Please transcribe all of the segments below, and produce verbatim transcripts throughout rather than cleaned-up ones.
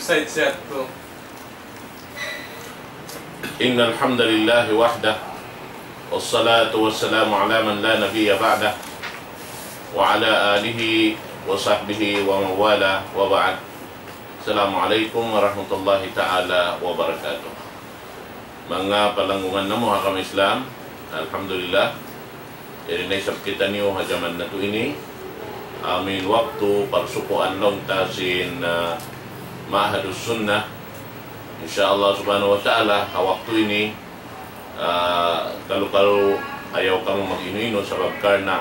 Said Siatko. إن الحمد لله وحده، والصلاة والسلام على من لا نبي بعده، وعلى آله وصحبه ومن والاه، وبعد. السلام عليكم ورحمة الله تعالى وبركاته. Manga palanggungan namu' ha agama Islam, alhamdulillah, yari na isab kitaniyu ha jaman natu' ini, amu in waktu parsukuan laung ta sin, ah, Ma'hadus Sunnah. Insya Allah subhanahu wa ta'ala, ha waktu ini, ah, kalu-kalu ayaw kamu mag-inu-inu sabab karna'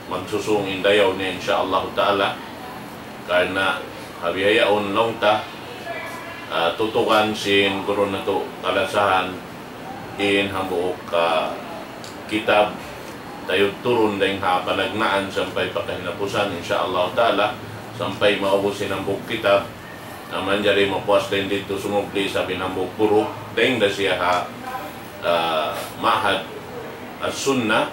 magsusung in dayaw niya, insya Allah ta'ala. Karna' ha bihaun laung ta, ah, tutukan sin guru natu' kalasahan in hambuuk, ah, kitab, tayud turun dayn ha panagnaan sampay pa kahinapusan, insya Allah ta'ala, sampay maubus in hambuuk kitab. Na manjari mapuas dayn didtu sumubli isab in hambuuk guru, dayn da siya ha, ah, Ma'had As-Sunnah,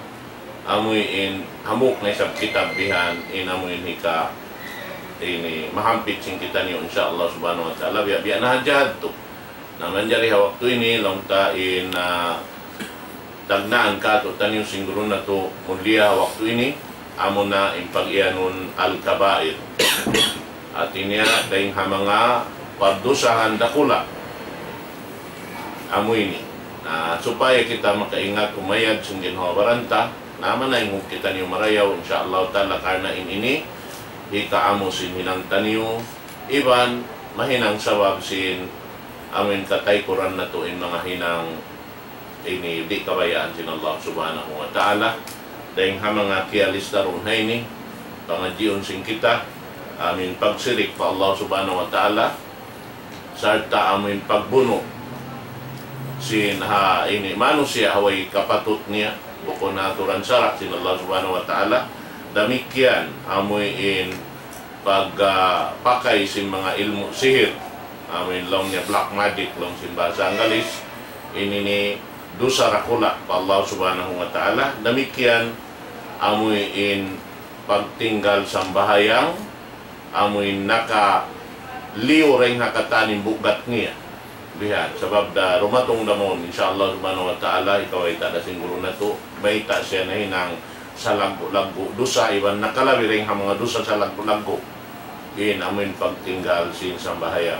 amu in hambuuk na isab kitab bihan, in amu in hika ini mahampit sin kitaniyu, insya Allah subhanahu wa ta'ala, biya'-biya' na hadja yadtu. Na manjari ha waktu ini, laung ta in, ah, tagnaan kātu'niyu sin guru natu' mulia ha waktu ini, amuna in pag-iyanun al-kabair. Hāti niya, dayn ha manga pardusahan dakula'. Amu ini. Na, supaya kita makaingat umayad sin ginhawa-baran ta, na manaynghug kitaniyu marayaw, insya Allah ta'ala, karna' in ini, hikaamu sin hinang taniyu, iban mahinang sabab sin amu in kataykuran natu' in manga hinang ini di' kabayaan sin Allah subhanahu wa ta'ala. Dayn ha manga kiyalista duun ha ini, pangadjiun sin kita, amu in pagsirik pa Allah subhanahu wa ta'ala, sarta' amu in pagbunu' sin ha ini manusiya' ha way kapatut niya, bukun ha aturan sara' sin Allah subhanahu wa ta'ala. Damikkiyan amu in pag, ah, pakay sin manga ilmu' sihir, amu in laung niya black magic, laung sin bahasa Anggalis, ini ini dusa dakula' pa Allah subhanahu wa ta'ala. Damikkiyan amu in pagtinggal sambahayang, amu in nakaliyu dayn ha katan in bugat niya. Bihan, sabab da dumatung da mawn, insya Allah subhanahu wa ta'ala, hikawayta' da sin guru natu', mayta' siya nahinang salaggu'-laggu' dusa, iban nakalabi dayn ha manga dusa salaggu'-laggu'. In amu in pagtinggal sin sambahayang.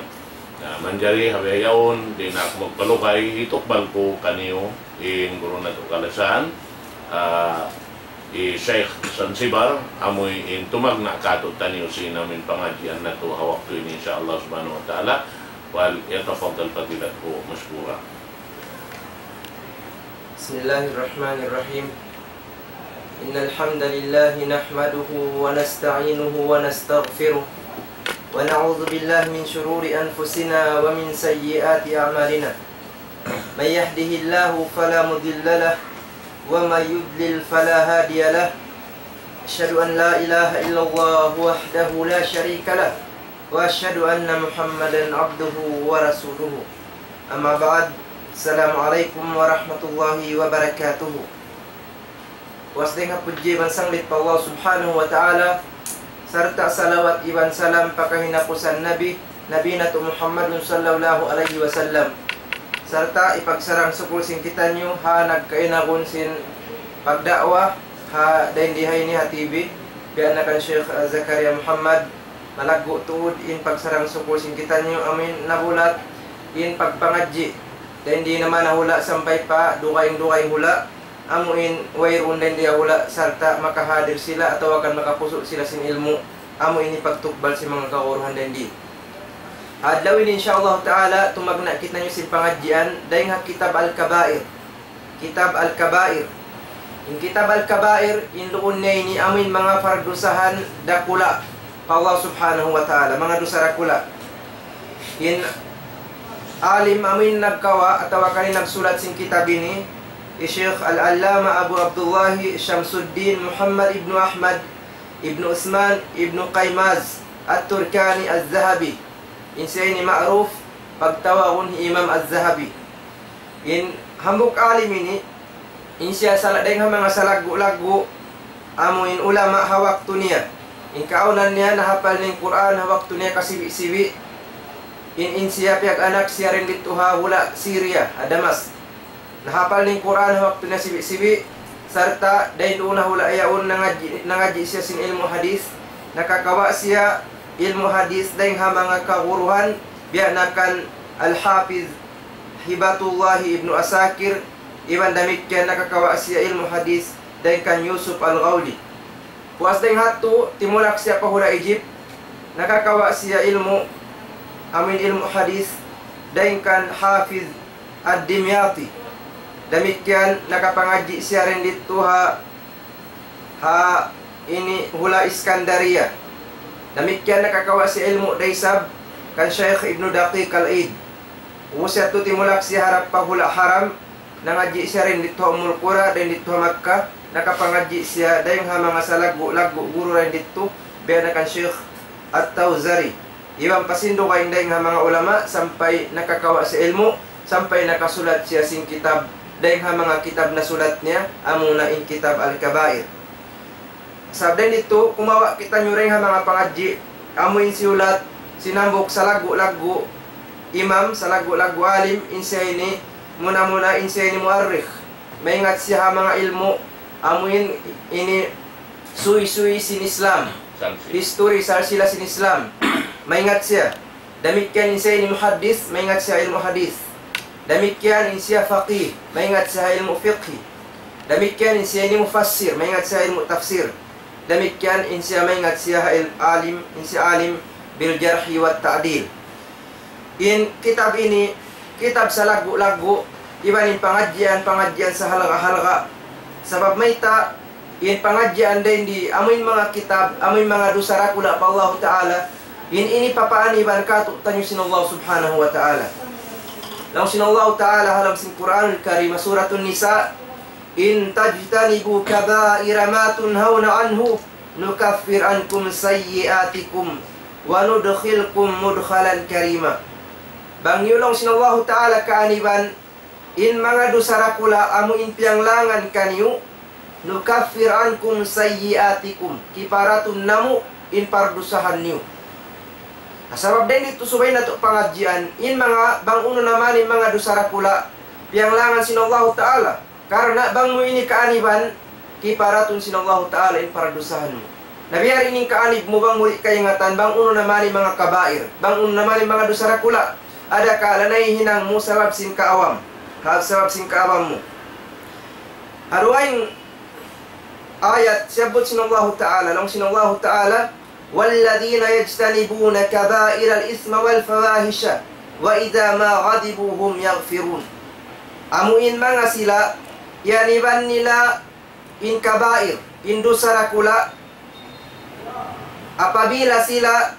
Na, manjari ha bihaun, di' na aku magpalugay, hitukbal ku kaniyu, in guru natu' kalasahan, ah, hi Sheikh Sansibar, amu in tumagna' kātu'niyu sin amu in pangadjian natu' ha waktu ini, insya Allah subhanahu wa ta'ala. فليتفضل فضيلته مشكورا. بسم الله الرحمن الرحيم. إن الحمد لله نحمده ونستعينه ونستغفره، ونعوذ بالله من شرور أنفسنا ومن سيئات أعمالنا. من يهده الله فلا مضل له، ومن يضلل فلا هادي له. أشهد أن لا إله إلا الله وحده لا شريك له، وأشهد أن محمدا عبده ورسوله. أما بعد، السلام عليكم ورحمة الله وبركاته. Puas dayn ha pudji iban sanglit pa Allah subhanahu wa ta'ala, sarta' salawat iban salam pa kahinapusan Nabi, Nabi natu' Muhammadun sallallahu alayhi wasallam. Sarta' hipagsarang-sukul sin kitaniyu ha nagkainagun sin pagda'wa ha dayn di ha ini ha T V, biya' na kan Sheikh, ah, Zakaria Muhammad, malaggu' tuud in pagsarang-sukul sin kitaniyu amu in nabulat in pagpangadji'. Dayn di naman ha hula' sampay pa dugaing-dugaing hula', amu in wayruun dayn di ha hula' sarta' makahadir sila atawa kan makapusu' sila sin ilmu', amu in hipagtukbal sin manga kaguruhan dayn di. Adlaw ini, insya Allah ta'ala, tumagna' kitaniyu sin pangadjian dayn ha kitab Al-Kabair. Kitab Al-Kabair. In kitab Al-Kabair, in duun niya ini amu in manga pardusahan dakula' pa Allah subhanahu wa ta'ala, manga dusa dakula'. In alim amu in nagkawa' atawa kan in nagsulat sin kitab ini, hi Sheikh Al-Allama Abu Abdullah Shamsuddin Muhammad ibnu Ahmad ibnu Usman ibnu Qaymaz At-Turkani Az-Zahabi. In siya ini ma'ruf pagtawagun hi Imam Az-Zahabi. In hambuuk alim ini, in siya sala-, dayn ha manga salaggu'-laggu' amu in ulama ha waktu niya. In kaawnan niya nahapal niya in Qur'an ha waktu niya kasibi'-sibi'. In, in siya piyag-anak siya dayn didtu ha hula' Syria, ha Damas. Nahapal niya in Qur'an ha waktu niya sibi'-sibi', sarta' dayn duun ha hula' yaun nangadji', nangadji' siya sin ilmu' hadith. Nakakawa' siya ilmu' hadith dayn ha manga kaguruhan, biya' na kan Al-Hafiz Hibatullah ibnu Asakir, iban damikkiyan nakakawa' siya ilmu' hadith dayn kan Yusuf Al-Ghawli. Puas dayn ha yadtu, timulak siya pa hula' Egypt, nakakawa' siya ilmu', amuin ilmu' hadith, dayn kan Hafiz Ad-Dimyati. Damikkiyan nakapangadji' siya dayn didtu ha, ha ini hula' Iskandariya. Damikkiyan nakakawa' siya ilmu' da isab kan Shaykh Ibnu Daqiq Al-Eid. Ubus yadtu timulak siya harap pa hula' Haram, nangadji' siya dayn didtu ha Ummul Qura, dayn didtu ha Makkah, nakapangadji' siya dayn ha manga salaggu'-laggu' guru dayn didtu, biya' na kan Shaykh At-Tawzari. Iban pa sin dugaing dayn ha manga ulama, sampay nakakawa' siya ilmu', sampay nakasulat siya sin kitab, dayn ha manga kitab nasulat niya, amuna in kitab Al-Kabair. Sabab dayn didtu, kumawa' kitaniyu dayn ha manga pangadji', amuin siyulat sin hambuuk salaggu'-laggu' imam, salaggu'-laggu' alim, in siya ini, muna-muna in siya ini muarrikh. Maingat siya ha manga ilmu', amuin ini suysuy sin Islam. Salsila. History, salsila sin Islam. Maingat siya. Damikkiyan in siya ini muhaddith, maingat siya ilmu' hadith. Damikkiyan in siya faqih, maingat siya ilmu' fiqhi. Damikkiyan in siya ini mufassir, maingat siya ilmu' tafsir. Damikkiyan in siya maingat siya il-, alim, in siya alim bil jarhi wa ta'dil. In kitab ini, kitab salaggu'-laggu', iban in pangadjian-pangadjian sahalga'-halga'. Sabab mayta', in pangadjian dayn di, amuin manga kitab, amuin manga dusa dakula' pa Allahu Ta'ala, in ini papaaniban kātu'niyu sin Allah Subhanahu wa Ta'ala. Laung sin Allahu Ta'ala ha lawm sin Qur'anul Karim, Suratun Nisa, إن تجتنبوا كبائر ما تنهون عنه نكفر عنكم سيئاتكم وندخلكم مدخلا كريما. Bang niyu laung sin Allahu Ta'ala kaaniban, in manga dusa dakula' amu in piyanglangan kaniyu, نكفر عنكم سيئاتكم, kiparatun namu' in pardusahan niyu. Sabab dayn didtu subay natu' pangadjian, in manga bang unu na man in manga dusa dakula', piyanglangan sin Allahu Ta'ala. Karna' bang mu ini kaaniban, kiparatun sin Allahu Ta'ala in pardusahan mu. Na biya' diin in kaanib mu bang mu di' kaingatan, bang unu na man in manga kabair, bang unu na man in manga dusa dakula', adakala nahihinang mu sabab sin kaawam, ha, sabab sin kaawam mu. Ha dugaing ayat, siyabbut sin Allahu Ta'ala, laung sin Allahu Ta'ala, والذين يجتنبون كبائر الإثم والفواحش وإذا ما غضبوا هم يغفرون. Amu in manga sila, iyan iban nila in kabair, in dusa dakula', apabila sila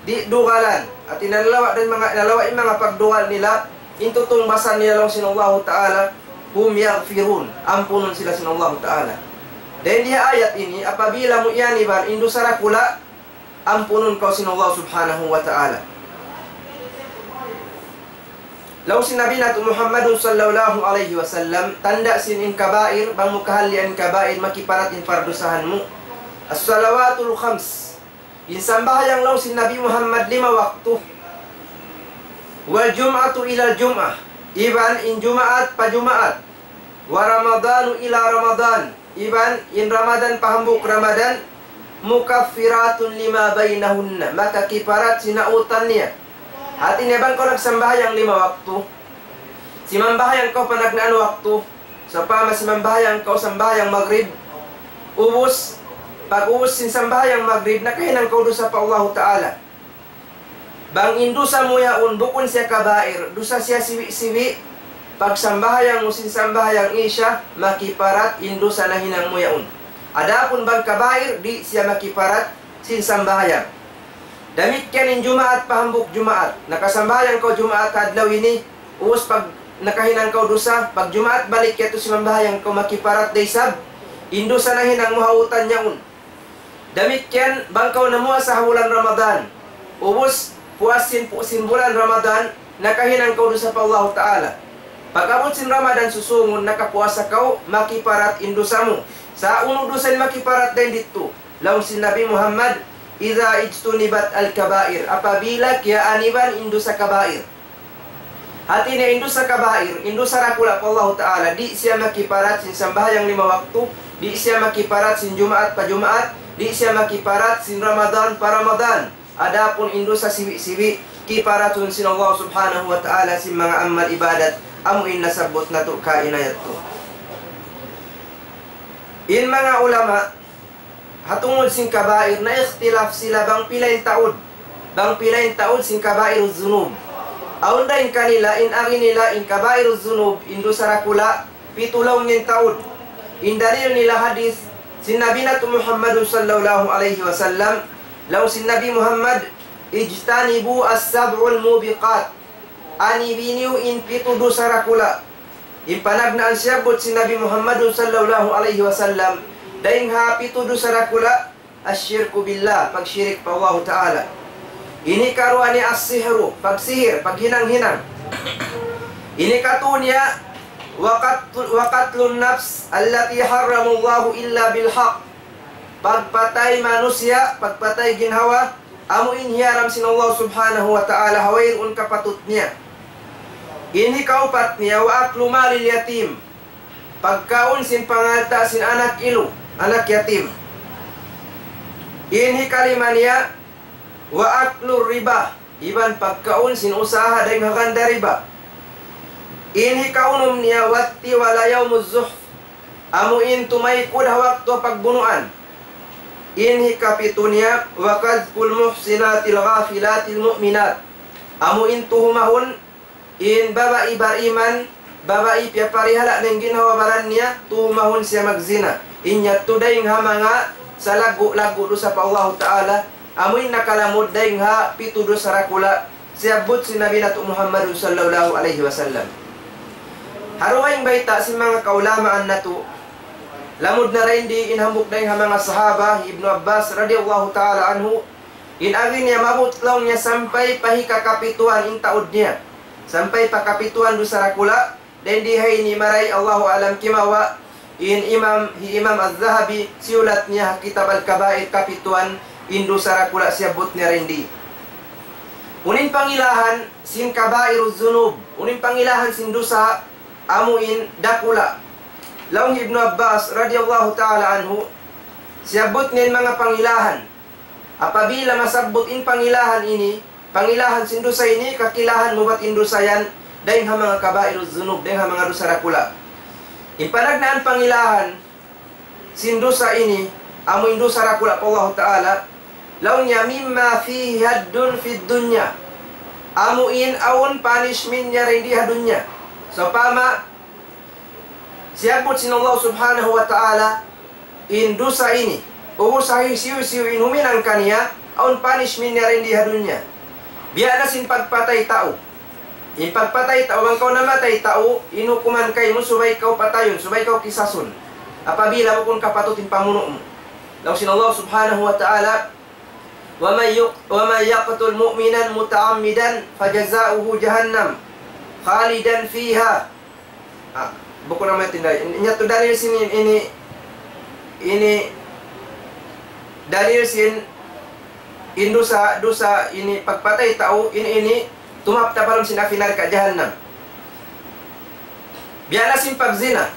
di' dugalan, hati nalawa' dayn manga, nalawa' in manga pagdugal nila, in tutungbasan nila laung sin Allahu Ta'ala, هم يغفرون, ampunun sila sin Allahu Ta'ala. Dayn di ha ayat ini, apabila mu iyan iban in dusa dakula', ampunun kaw sin Allah Subhanahu wa Ta'ala. Laung sin Nabi natu' Muhammadun sallallahu alayhi wasallam, tanda' sin in kabair, bang mu kahallian in kabair, makiparat in pardusahan mu. الصلوات الخمس. In sambahayang laung sin Nabi Muhammad lima waktu. والجمعة إلى الجمعة. Iban in Jumaat pa Jumaat. ورمضان إلى رمضان. Iban in Ramadan pa hambuuk Ramadan, مكفرات لما بينهن, makakiparat sin nautan niya. Hati niya bang kaw nagsambahayang lima waktu, simambahayang kaw panagnaan waktu, sawpama simambahayang kaw sambahayang magrib, ubus, pag-ubus sin sambahayang magrib, nakahinang kaw dusa pa Allahu Ta'ala. Bang in dusa mu yaun bukun siya kabair, dusa siya siwi'-siwi', pagsambahayang mu sin sambahayang Isya, makiparat in dusa nahinang mu yaun. Adapun bang kabair, di' siya makiparat sin sambahayang. Damikkiyan in Jumaat pa hambuuk Jumaat. Nakasambahayang kaw Jumaat adlaw ini, ubus pag nakahinang kaw dusa, pag Jumaat balik yadtu simambahayang kaw makiparat da isab in dusa nahinang mu ha utan yaun. Damikkiyan, bang kaw namuasa ha bulan Ramadan, ubus puas sin, pu-, sin bulan Ramadan, nakahinang kaw dusa pa Allahu Ta'ala. Pag-abut sin Ramadan susūngun, nakapuasa kaw, makiparat in dusa mu. Sa' unu dusa in makiparat dayn didtu? Laung sin Nabi Muhammad, إذا اجتنبت الكبائر, apabila kiyaaniban in dusa kabair. Hati niya in dusa kabair, in dusa dakula' pa Allahu Ta'ala, di' siya makiparat sin sambahayang lima waktu, di' siya makiparat sin Jumaat pa Jumaat, di' siya makiparat sin Ramadan pa Ramadan. Adapun in dusa siwi'-siwi', kiparatun sin Allah Subhanahu wa Ta'ala sin manga amal ibadat, amu in nasabbut natu' kaina yadtu. In manga ulama, ha tungud sin kabair, nag-ikhtilaf sila bang pila in taud. Bang pila in taud sin kabairuz zunub. Awn dayn kanila, in agi nila, in kabairuz zunub, in dusa dakula', pitu laung in taud. In dalil nila hadith sin Nabi natu' Muhammadun sallallahu alayhi wasallam, laung sin Nabi Muhammad, اجتنبوا السبع الموبقات. Anibi niyu in pitu dusa dakula'. In panagnaan siyabbut sin Nabi Muhammadun sallallahu alayhi wasallam, dayn ha pitu dusa dakula', الشرك بالله, pagshirik pa Allahu Ta'ala. In hikaruwa niya السحر, pagsihir, paghinang-hinang. In hikatū niya وقتل, وقتل النفس التي حرم الله إلا بالحق. Pagpatay manusiya', pagpatay ginhawa, amu in hiyaram sin Allah Subhanahu wa Ta'ala ha wayruun kapatut niya. In hikaupat niya, وأكل مال اليتيم. Pagkaun sin pangalta' sin anak ilu, anak yatim. In hikalima niya, وأكل الربا. Iban pagkaun sin usaha dayn ha ganda riba. In hikaunum niya, والتولى يوم الزحف. Amu in tumaykud ha waktu pagbunuan. In hikapitu niya, وقذف المحصنات الغافلات المؤمنات. Amu in tuhumahun in babai bariman, babai piyaparihala' dayn ginhawa-baran niya, tuhumahun siya magzina. In yadtu dayn ha manga salaggu'-laggu' dusa pa Allahu Ta'ala, amu in nakalamud dayn ha pitu dusa dakula', siyabbut sin Nabi natu' Muhammadun sallallahu alayhi wasallam. Ha dugaing bayta' sin manga kaulamaan natu', lamud na dayn di in hambuuk dayn ha manga sahaba, Ibnu Abbas radiyallahu ta'ala anhu, in agi niya maabut laung niya sampay pa hikakapituan in taud niya. Sampay pa kapituan dusa dakula', dayn di ha ini marayaw, Allahu a'lam, kimawa' in Imam, hi Imam Az-Zahabi, siyulat niya ha Kitab Al-Kabair kapituan in dusa dakula' siyabbut niya dayn di. Unu in pangilahan sin kabairuz zunub, unu in pangilahan sin dusa amu in dakula'. Laung hi Ibnu Abbas radiyallahu ta'ala anhu, siyabbut niya in manga pangilahan. Apabila masabbut in pangilahan ini, pangilahan sin dusa ini, kakilahan mu bat in dusa yan, dayn ha manga kabairuz zunub, dayn ha manga dusa dakula'. In panagnaan pangilahan sin dusa ini, amu in dusa dakula' pa Allahu Ta'ala, laung niya, مما فيه حد في الدنيا. Amu in awn punishment niya dayn di ha dunya. Sawpama, siyabbut sin Allah Subhanahu wa Ta'ala in dusa ini, ubus ha hisiyu-siyu in huminang kaniya, awn punishment niya dayn di ha dunya. Biya' na sin pagpatay tau. In pagpatay tau, bang kaw namatay tau, in hukuman kaymu subay kaw patayun, subay kaw kisasun. Apabila bukun kapatut in pamunu' mu. Laung sin Allah Subhanahu wa Ta'ala, ومن يق-، ومن يقتل مؤمنا متعمدا فجزاؤه جهنم خالدا فيها. Ah, bukun na amu yan in dalil. In yadtu dalil sin in, ini, ini dalil sin in dusa, dusa ini pagpatay tau, ini, ini tumaptap ha lawm sin api narka' jahannam. Biya' na sin pagzina.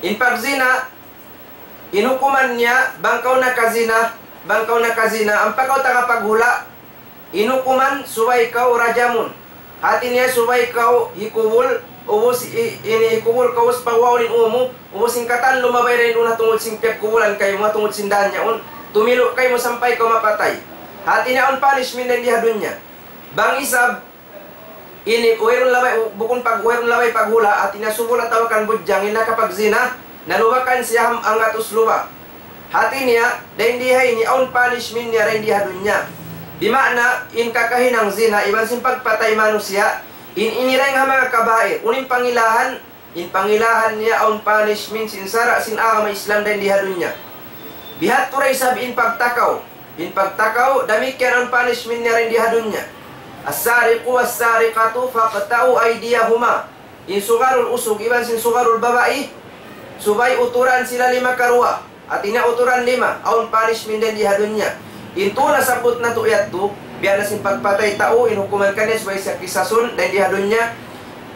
In pagzina, in hukuman niya, bang kaw nakazina, bang kaw nakazina, ampa kaw taga paghula', in hukuman, subay kaw rajamun. Hati niya, subay kaw hikubul, ubus i-, ini hikubul kaw, ubus pagwaun in ū mu, ubus in katan lumabay dayn duun ha tungud sin piyagkubulan kaymu, ha tungud sin dān yaun, tumilu' kaymu sampay kaw mapatay. Hati niya, awn punishment dayn di ha dunya. Bang isab, ini, wayruun labay, bukun pag-, wayruun labay paghula', hati niya subul atawa kan budjang, in nakapagzina, nalubakan siya ham-, hanggatus luba'. Hati niya, dayn di ha ini, awn punishment niya dayn di ha dunya. Di' maana, in kakahinang zina, iban sin pagpatay manusiya', in ini dayn ha manga kabair, unu in pangilahan, in pangilahan niya awn punishment sin sara' sin agama Islam dayn di ha dunya. Bihadtu da isab in pagtakaw. In pagtakaw, damikkiyan awn punishment niya dayn di ha dunya. السارق والسارقة فاقطعوا أيديهما. In sugarul usug, iban sin sugarul babai, subay uturan sila lima karuwa. Hati niya uturan lima, awn punishment dayn di ha dunya. In tū nasabbut natu' yadtu, biya' na sin pagpatay tau, in hukuman kaniya subay siya kisasun, dayn di ha dunya,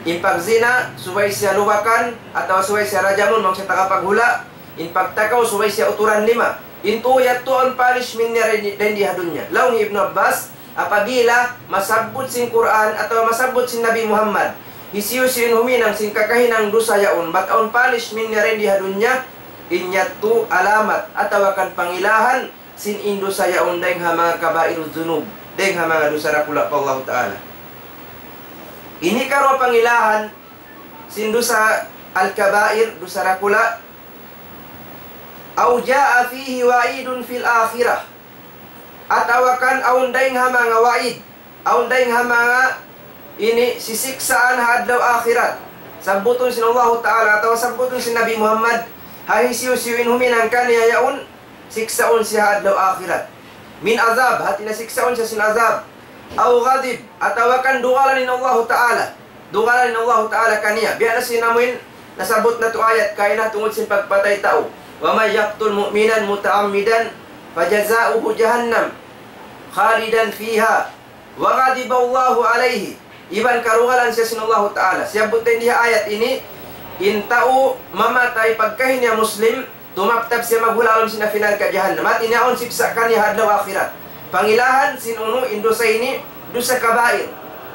in pagzina, subay siya lubakan, atawa subay siya rajamun, bang siya tagapaghula', in pagtakaw, subay siya uturan lima. In tū yadtu awn punishment niya dayn di, dayn di ha dunya. Laung hi Ibnu Abbas, apabila masabbut sin Qur'an, atawa masabbut sin Nabi Muhammad, hisiyu-siyu in huminang sin kakahinang dusa yaun, bat awn punishment niya dayn di ha dunya, in yadtu alamat, atawa kan pangilahan, sin in dusa yaun dayn ha manga kabairudh dhunub, dayn ha manga dusa dakula' pa Allahu Ta'ala. Ini karuwa pangilahan sin dusa al-kabair, dusa dakula', أو جاء فيه وعيد في الآخرة. Atawa kan awn dayn ha manga wa'id, awn dayn ha manga ini sisiksaan ha adlaw akhirat. Sabbutun sin Allahu Ta'ala atawa sabbutun sin Nabi Muhammad, ha hisiyu-siyu in huminang kaniya yaun, siksaun siya ha adlaw akhirat. من عذاب, hati niya siksaun siya sin azab. أو غضب, atawa kan dugalan in Allahu Ta'ala. Dugalan in Allahu Ta'ala kaniya. Biya' na sin amuin nasabbut natu' ayat kaina tungud sin pagpatay tau. ومن يقتل مؤمنا متعمدا فجزاؤه جهنم خالدا فيها وغضب الله عليه. Iban karugalan siya sin Allahu Ta'ala. Siyabbut dayn di ha ayat ini, in tau mamatay pagkahi niya Muslim, tumabtab siya maghula' ha lawm sin api narka' jahannam. Hati niya awn siksa' kaniya ha adlaw akhirat. Pangilahan sin unu in dusa ini, dusa kabair.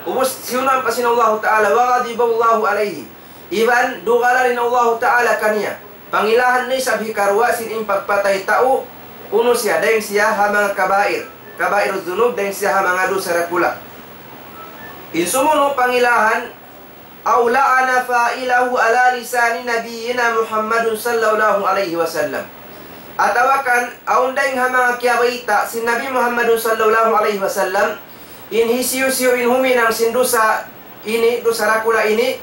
Ubus siyunan pa sin Allahu Ta'ala, وغضب الله عليه. Iban dugalan in Allahu Ta'ala kaniya. Pangilahan na isab hikaruwa sin in pagpatay tau, unu siya, dayn siya ha manga kabair. Kabairudh dhunub, dayn siya ha manga dusa dakula'. In sumunu' pangilahan, أو لعن فاعله على لسان نبينا محمد صلى الله عليه وسلم. Atawa kan, awn dayn ha manga kiyabayta' sin Nabi Muhammad sallallahu alayhi wasallam, in hisiyu-siyu in huminang sin dusa ini, dusa dakula' ini,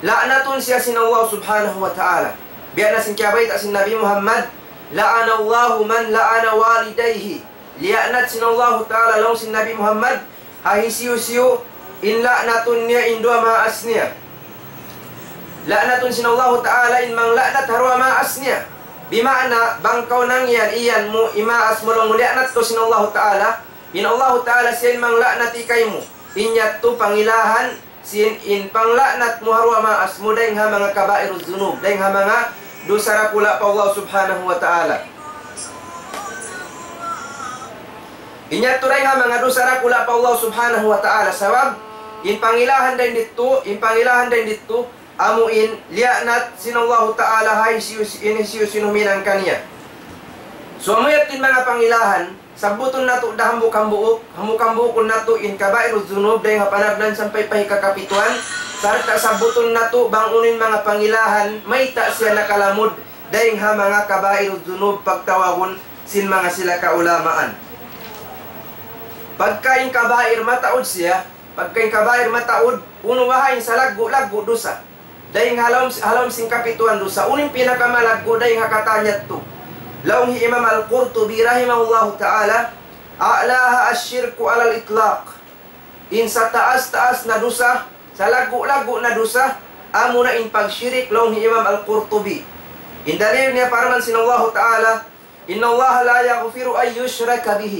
la'natun siya sin Allah Subhanahu wa Ta'ala. Biya' na sin kiyabayta' sin Nabi Muhammad, لعن الله من لعن والديه. Liya'nat sin Allahu Ta'ala laung sin Nabi Muhammad, ha hisiyu-siyu in la'natun niya in duwa maas niya. La'natun sin Allahu Ta'ala in mangla'nat ha duwa maas niya. Bima'na, bang kaw nangiyan, iyan mu, imaas mu laung mu liya'nat kaw sin Allahu Ta'ala, in Allahu Ta'ala siya in mangla'nat kaymu. In yadtu pangilahan sin in pangla'nat mu ha duwa maas mu dayn ha manga kabairudh dhunub, dayn ha manga dusa dakula' pa Allah Subhanahu wa Ta'ala. In yadtu dayn ha manga dusa dakula' pa Allah Subhanahu wa Ta'ala, sabab in pangilahan dayn didtu, in pangilahan dayn didtu, amu in liya'nat sin Allahu Ta'ala ha hisiyu-, in hisiyu-siyu in huminang kaniya. So, amu yadtu in manga pangilahan, sabbutun natu' da hambuuk-hambuuk, hambuuk-hambuukun natu' in kabairudh dhunub dayn ha panardan sampay pa hikakapituan, sarta' sabbutun natu' bang unu in manga pangilahan, mayta' siya nakalamud dayn ha manga kabairudh dhunub pagtawagun sin manga sila kaulamaan. Pagka in kabair mataud siya, pagka in kabair mataud, unu baha' in salaggu'-laggu' dusa. Dayn ha lawm, ha lawm sin kapituan dusa, unu in pinakamalaggu' dayn ha katan yadtu. Laung hi Imam Al-Qurtubi rahimahullahu ta'ala, أعلاها الشرك على الإطلاق. In sataas-taas na dusa, salaggu'-laggu' na dusa, amuna in pagshirik laung hi Imam Al-Qurtubi. In dalil niya parman sin Allahu Ta'ala, إن الله لا يغفر أن يشرك به.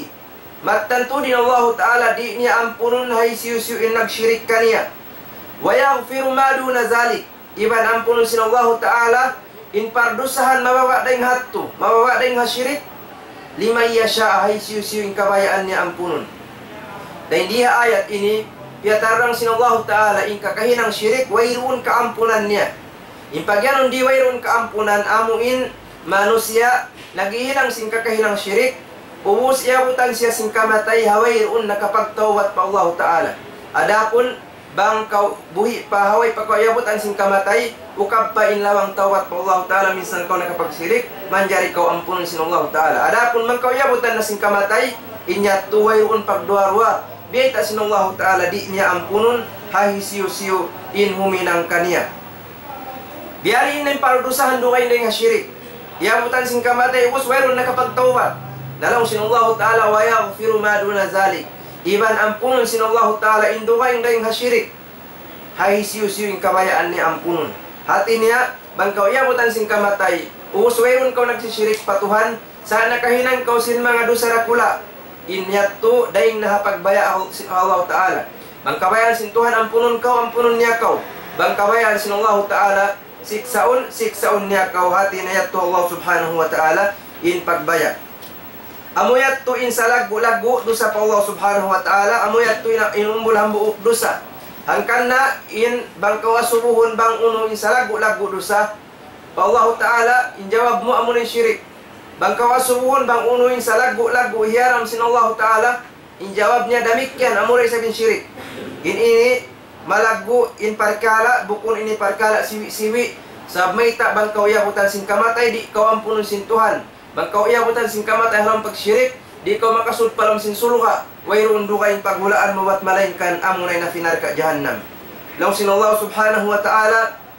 Mattan tuud in Allahu Ta'ala di' niya ampunun ha hisiyu-siyu in nagshirik kaniya. ويغفر ما دون ذلك. Iban ampunun sin Allahu Ta'ala in pardusahan mababa' dayn ha yadtu, mababa' dayn ha shirik. لمن يشاء, ha hisiyu-siyu in kabayaan niya ampunun. Dayn di ha ayat ini, piyatarrang sin Allahu Ta'ala in kakahinang shirik, wayruun kaampunan niya. In pagiyanun di' wayruun kaampunan amu in manusiya' naghihinang sin kakahinang shirik, ubus iyabutan siya sin kamatay ha wayruun nakapagtawbat pa Allahu Ta'ala. Adapun bang kaw buhi' pa ha way pa kaw iyabutan sin kamatay, ukab pa in lawang tawbat pa Allahu Ta'ala, minsan kaw nakapagshirik, manjari kaw ampunun sin Allahu Ta'ala. Adapun bang kaw iyabutan na sin kamatay, in yadtu wayruun pagduwa-ruwa, biyayta' sin Allahu Ta'ala di' niya ampunun ha hisiyu-siyu in huminang kaniya. Biya' diin in pardusahan dugaing dayn ha shirik. Iyabutan sin kamatay, ubus wayruun nakapagtawbat. Na laung sin Allahu Ta'ala, ويغفر ما دون ذلك. Iban ampunun sin Allahu Ta'ala in dugaing dayn ha shirik. Ha hisiyu-siyu in kabayaan niya ampunun. Hati niya, bang kaw iyabutan sin kamatay, ubus wayruun kaw nagsishirik pa Tuhan, sa' nakahinang kaw sin manga dusa dakula'. In yadtu, dayn na ha pagbaya' ha Allah Ta'ala. Bang kabayaan sin Tuhan ampunun kaw, ampunun niya kaw. Bang kabayaan sin Allah Ta'ala siksaun, siksaun niya kaw. Hati niya yadtu Allah Subhanahu wa Ta'ala in pagbaya'. Amu yadtu in salaggu'-laggu' dusa pa Allah Subhanahu wa Ta'ala, amu yadtu in, in umbul hambuuk dusa. Hangkan na in bang kaw asubuhun bang unu in salaggu'-laggu' dusa pa Allah Ta'ala, in jawab mu amu in shirik. Bang kaw asubuhun bang unu in salaggu'-laggu' hiyaram sin Allah Ta'ala, in jawab niya damikkiyan, amu da isab in shirik. In ini malaggu' in parkala', bukun ini parkala' siwi'-siwi'. Sabab mayta' bang kaw iyabutan sin kamatay, di' kaw ampunun sin Tuhan. Bang kaw iyabutan sin kamatay ha lawm pagshirik, di' kaw makasud pa lawm sin surga'. Wayruun dugaing paghulaan mu bat malaingkan amu na in api narka' jahannam. Laung sin Allah Subhanahu wa Ta'ala,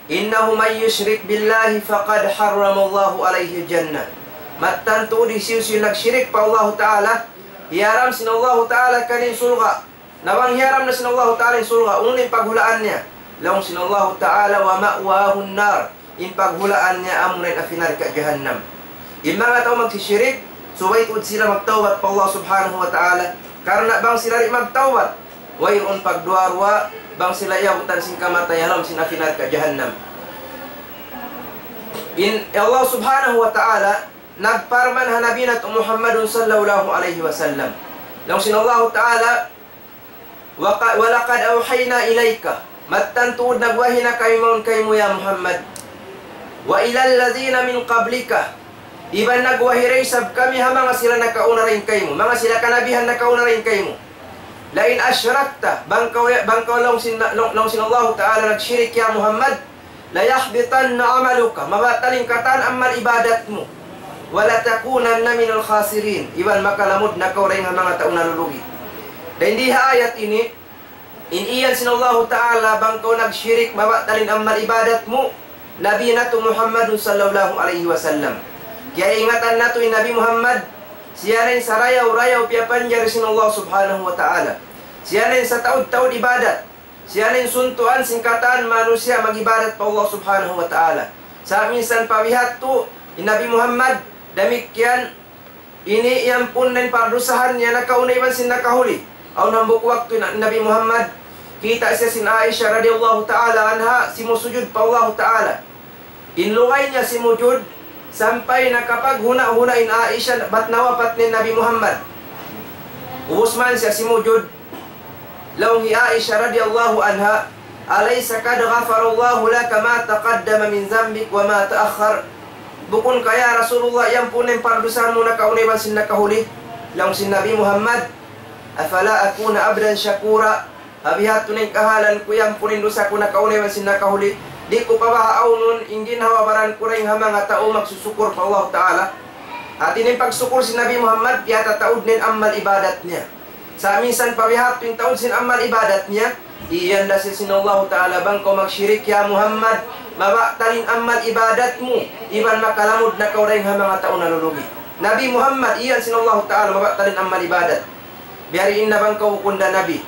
إنه من يشرك بالله فقد حرم الله عليه الجنة. Mattan tuud hisiyu-siyu nagshirik pa Allah Ta'ala, hiyaram sin Allah Ta'ala kaniya in surga'. Na bang hiyaram na sin Allah Ta'ala in surga', unu in paghulaan niya? Laung sin Allah Ta'ala, ومأواه النار. In paghulaan niya amu na in api narka' jahannam. In manga tau magsishirik, subay tuud sila magtawbat pa Allah Subhanahu wa Ta'ala. Karna' bang sila di' magtawbat, wayruun pagduwa-ruwa, bang sila iyabutan sin kamatay ha lawm sin api narka' jahannam. In Allah Subhanahu wa Ta'ala nagparman ha Nabi natu' Muhammadun sallallahu alayhi wasallam. Laung sin Allah Ta'ala, وق-، ولقد أوحينا إليك. Mattan tuud nagwahi na kami mawn kaymu ya Muhammad. وإلى الذين من قبلك. Iban nagwahi da isab kami ha manga sila nakauna dayn kaymu, manga sila kanabihan nakauna dayn kaymu. لئن أشركت, bang kaw, bang kaw laung sin, laung, laung sin Allahu Ta'ala nagshirik ya Muhammad, ليحبطن عملك, mabatal in katan amal ibadat mu. ولتكونن من الخاسرين, iban makalamud na kaw dayn ha manga tau nalulugi. Dayn di ha ayat ini, in iyan sin Allahu Ta'ala, bang kaw nagshirik, mabatal in amal ibadat mu, Nabi natu' Muhammadun sallallahu alayhi wasallam. Kiyaingatan natu' in Nabi Muhammad, siya na in sarayaw-rayaw piyapanjari sin Allah Subhanahu wa Ta'ala. Siya na in sataud-taud ibadat. Siya na in suntuan sin katan manusiya' mag-ibadat pa Allah Subhanahu wa Ta'ala. Sa' minsan pa biya' hādtu, in Nabi Muhammad, damikkiyan, ini iyampun na in pardusahan niya nakauna iban sin nakahuli. Awn hambuuk waktu na-, Nabi Muhammad, kita' siya sin Aisha radiyallahu ta'ala anha, simusujud pa Allahu Ta'ala. In lugay niya simujud, sampay nakapaghuna'-huna' in Aisha, bat nawapat na in Nabi Muhammad. Ubus man siya simujud, laung hi Aisha radiyallahu anha, أليس قد غفر الله لك ما تقدم من ذنبك وما تأخر؟ Bukun ka ya Rasulullah, iyampun na in pardusahan mu nakauna iban sin nakahuli? Laung sin Nabi Muhammad, أفلا أكون عبدا شكورا؟ Ha biya' hādtu na in kahalan ku, iyampun in dusa ku nakauna iban sin nakahuli. Di' ku pa baha' awnun in ginhawa-baran ku dayn ha manga tau magsusukur pa Allah Ta'ala. Hāti niya in pagsukur sin Nabi Muhammad, piyatataud niya in amal ibadat niya. Sa' minsan pa biya' hādtu in taud sin amal ibadat niya, iyan da siya sin Allah Ta'ala, bang kaw magshirik ya Muhammad, mabatal in amal ibadat mu, iban makalamud na kaw dayn ha manga tau nalulugi. Nabi Muhammad, iyan sin Allah Ta'ala, mabatal in amal ibadat. Biya' diin na bang kaw bukun da nabi.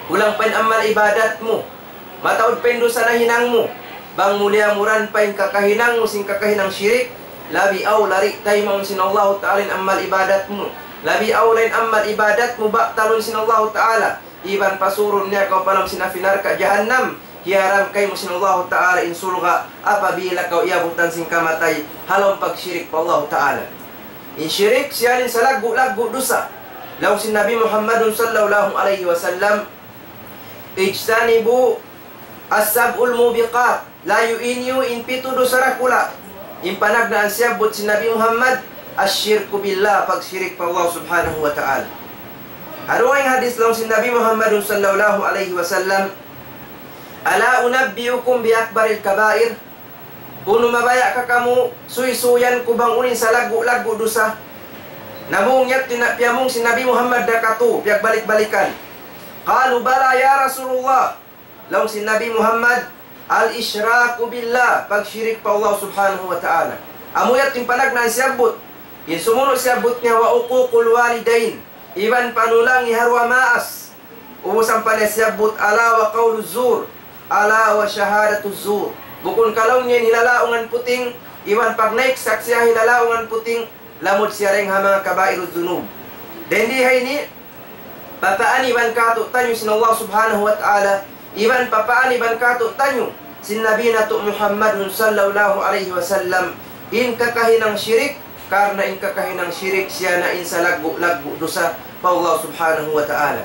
Kulang pa in amal ibadat mu. Mataud pa in dusa nahinang mu. Bang muliya-muran pa in kakahinang mu sin kakahinang shirik, labi awla di' taymaun sin Allahu Ta'ala in amal ibadat mu. Labi awla in amal ibadat mu batalun sin Allahu Ta'ala. Iban pasurun niya kaw pa lawm sin api narka' jahannam. Hiyaram kaymu sin Allahu Ta'ala in surga' apabila kaw iyabutan sin kamatay ha lawm pagshirik pa Allahu Ta'ala. In shirik siya in salaggu'-laggu' dusa. Laung sin Nabi Muhammadun sallallahu alayhi wasallam, اجتنبوا السبع الموبقات. Layu' niyu in pitu dusa dakula'. In panagnaan siyabbut sin Nabi Muhammad, الشرك بالله, pagshirik pa Allah Subhanahu wa Ta'ala. Ha dugaing hadith laung sin Nabi Muhammadun sallallahu alayhi wasallam, ألا أنبئكم بأكبر الكبائر؟ Unu mabaya' ka kamu, suysuyan ku bang unu in salaggu'-laggu' dusa? Namung yadtu na piyamung sin Nabi Muhammad da katu', piyagbalik-balikan. قالوا بلى يا رسول الله. Laung sin Nabi Muhammad, الإشراك بالله, pagshirik pa Allah Subhanahu wa Ta'ala. Amu yadtu in panagnaan siyabbut. In sumunu' siyabbut niya وعقوق الوالدين, iban panulangi ha duwa maas. Ubus ampa niya siyabbut, ألا وقول الزور، ألا وشهادة الزور. Bukun ka laung niya in hilalaungan puting, iban pagnaik saksi' ha hilalaungan puting, lamud siya dayn ha manga كبائر الذنوب. Dayn di ha ini, papaaniban kātu'niyu sin Allah Subhanahu wa Ta'ala, iban papaaniban kātu'niyu sin Nabi natu' Muhammadun sallallahu alayhi wasallam, in kakahinang shirik, karna' in kakahinang shirik siya na in salaggu'-laggu' dusa pa Allah Subhanahu wa Ta'ala.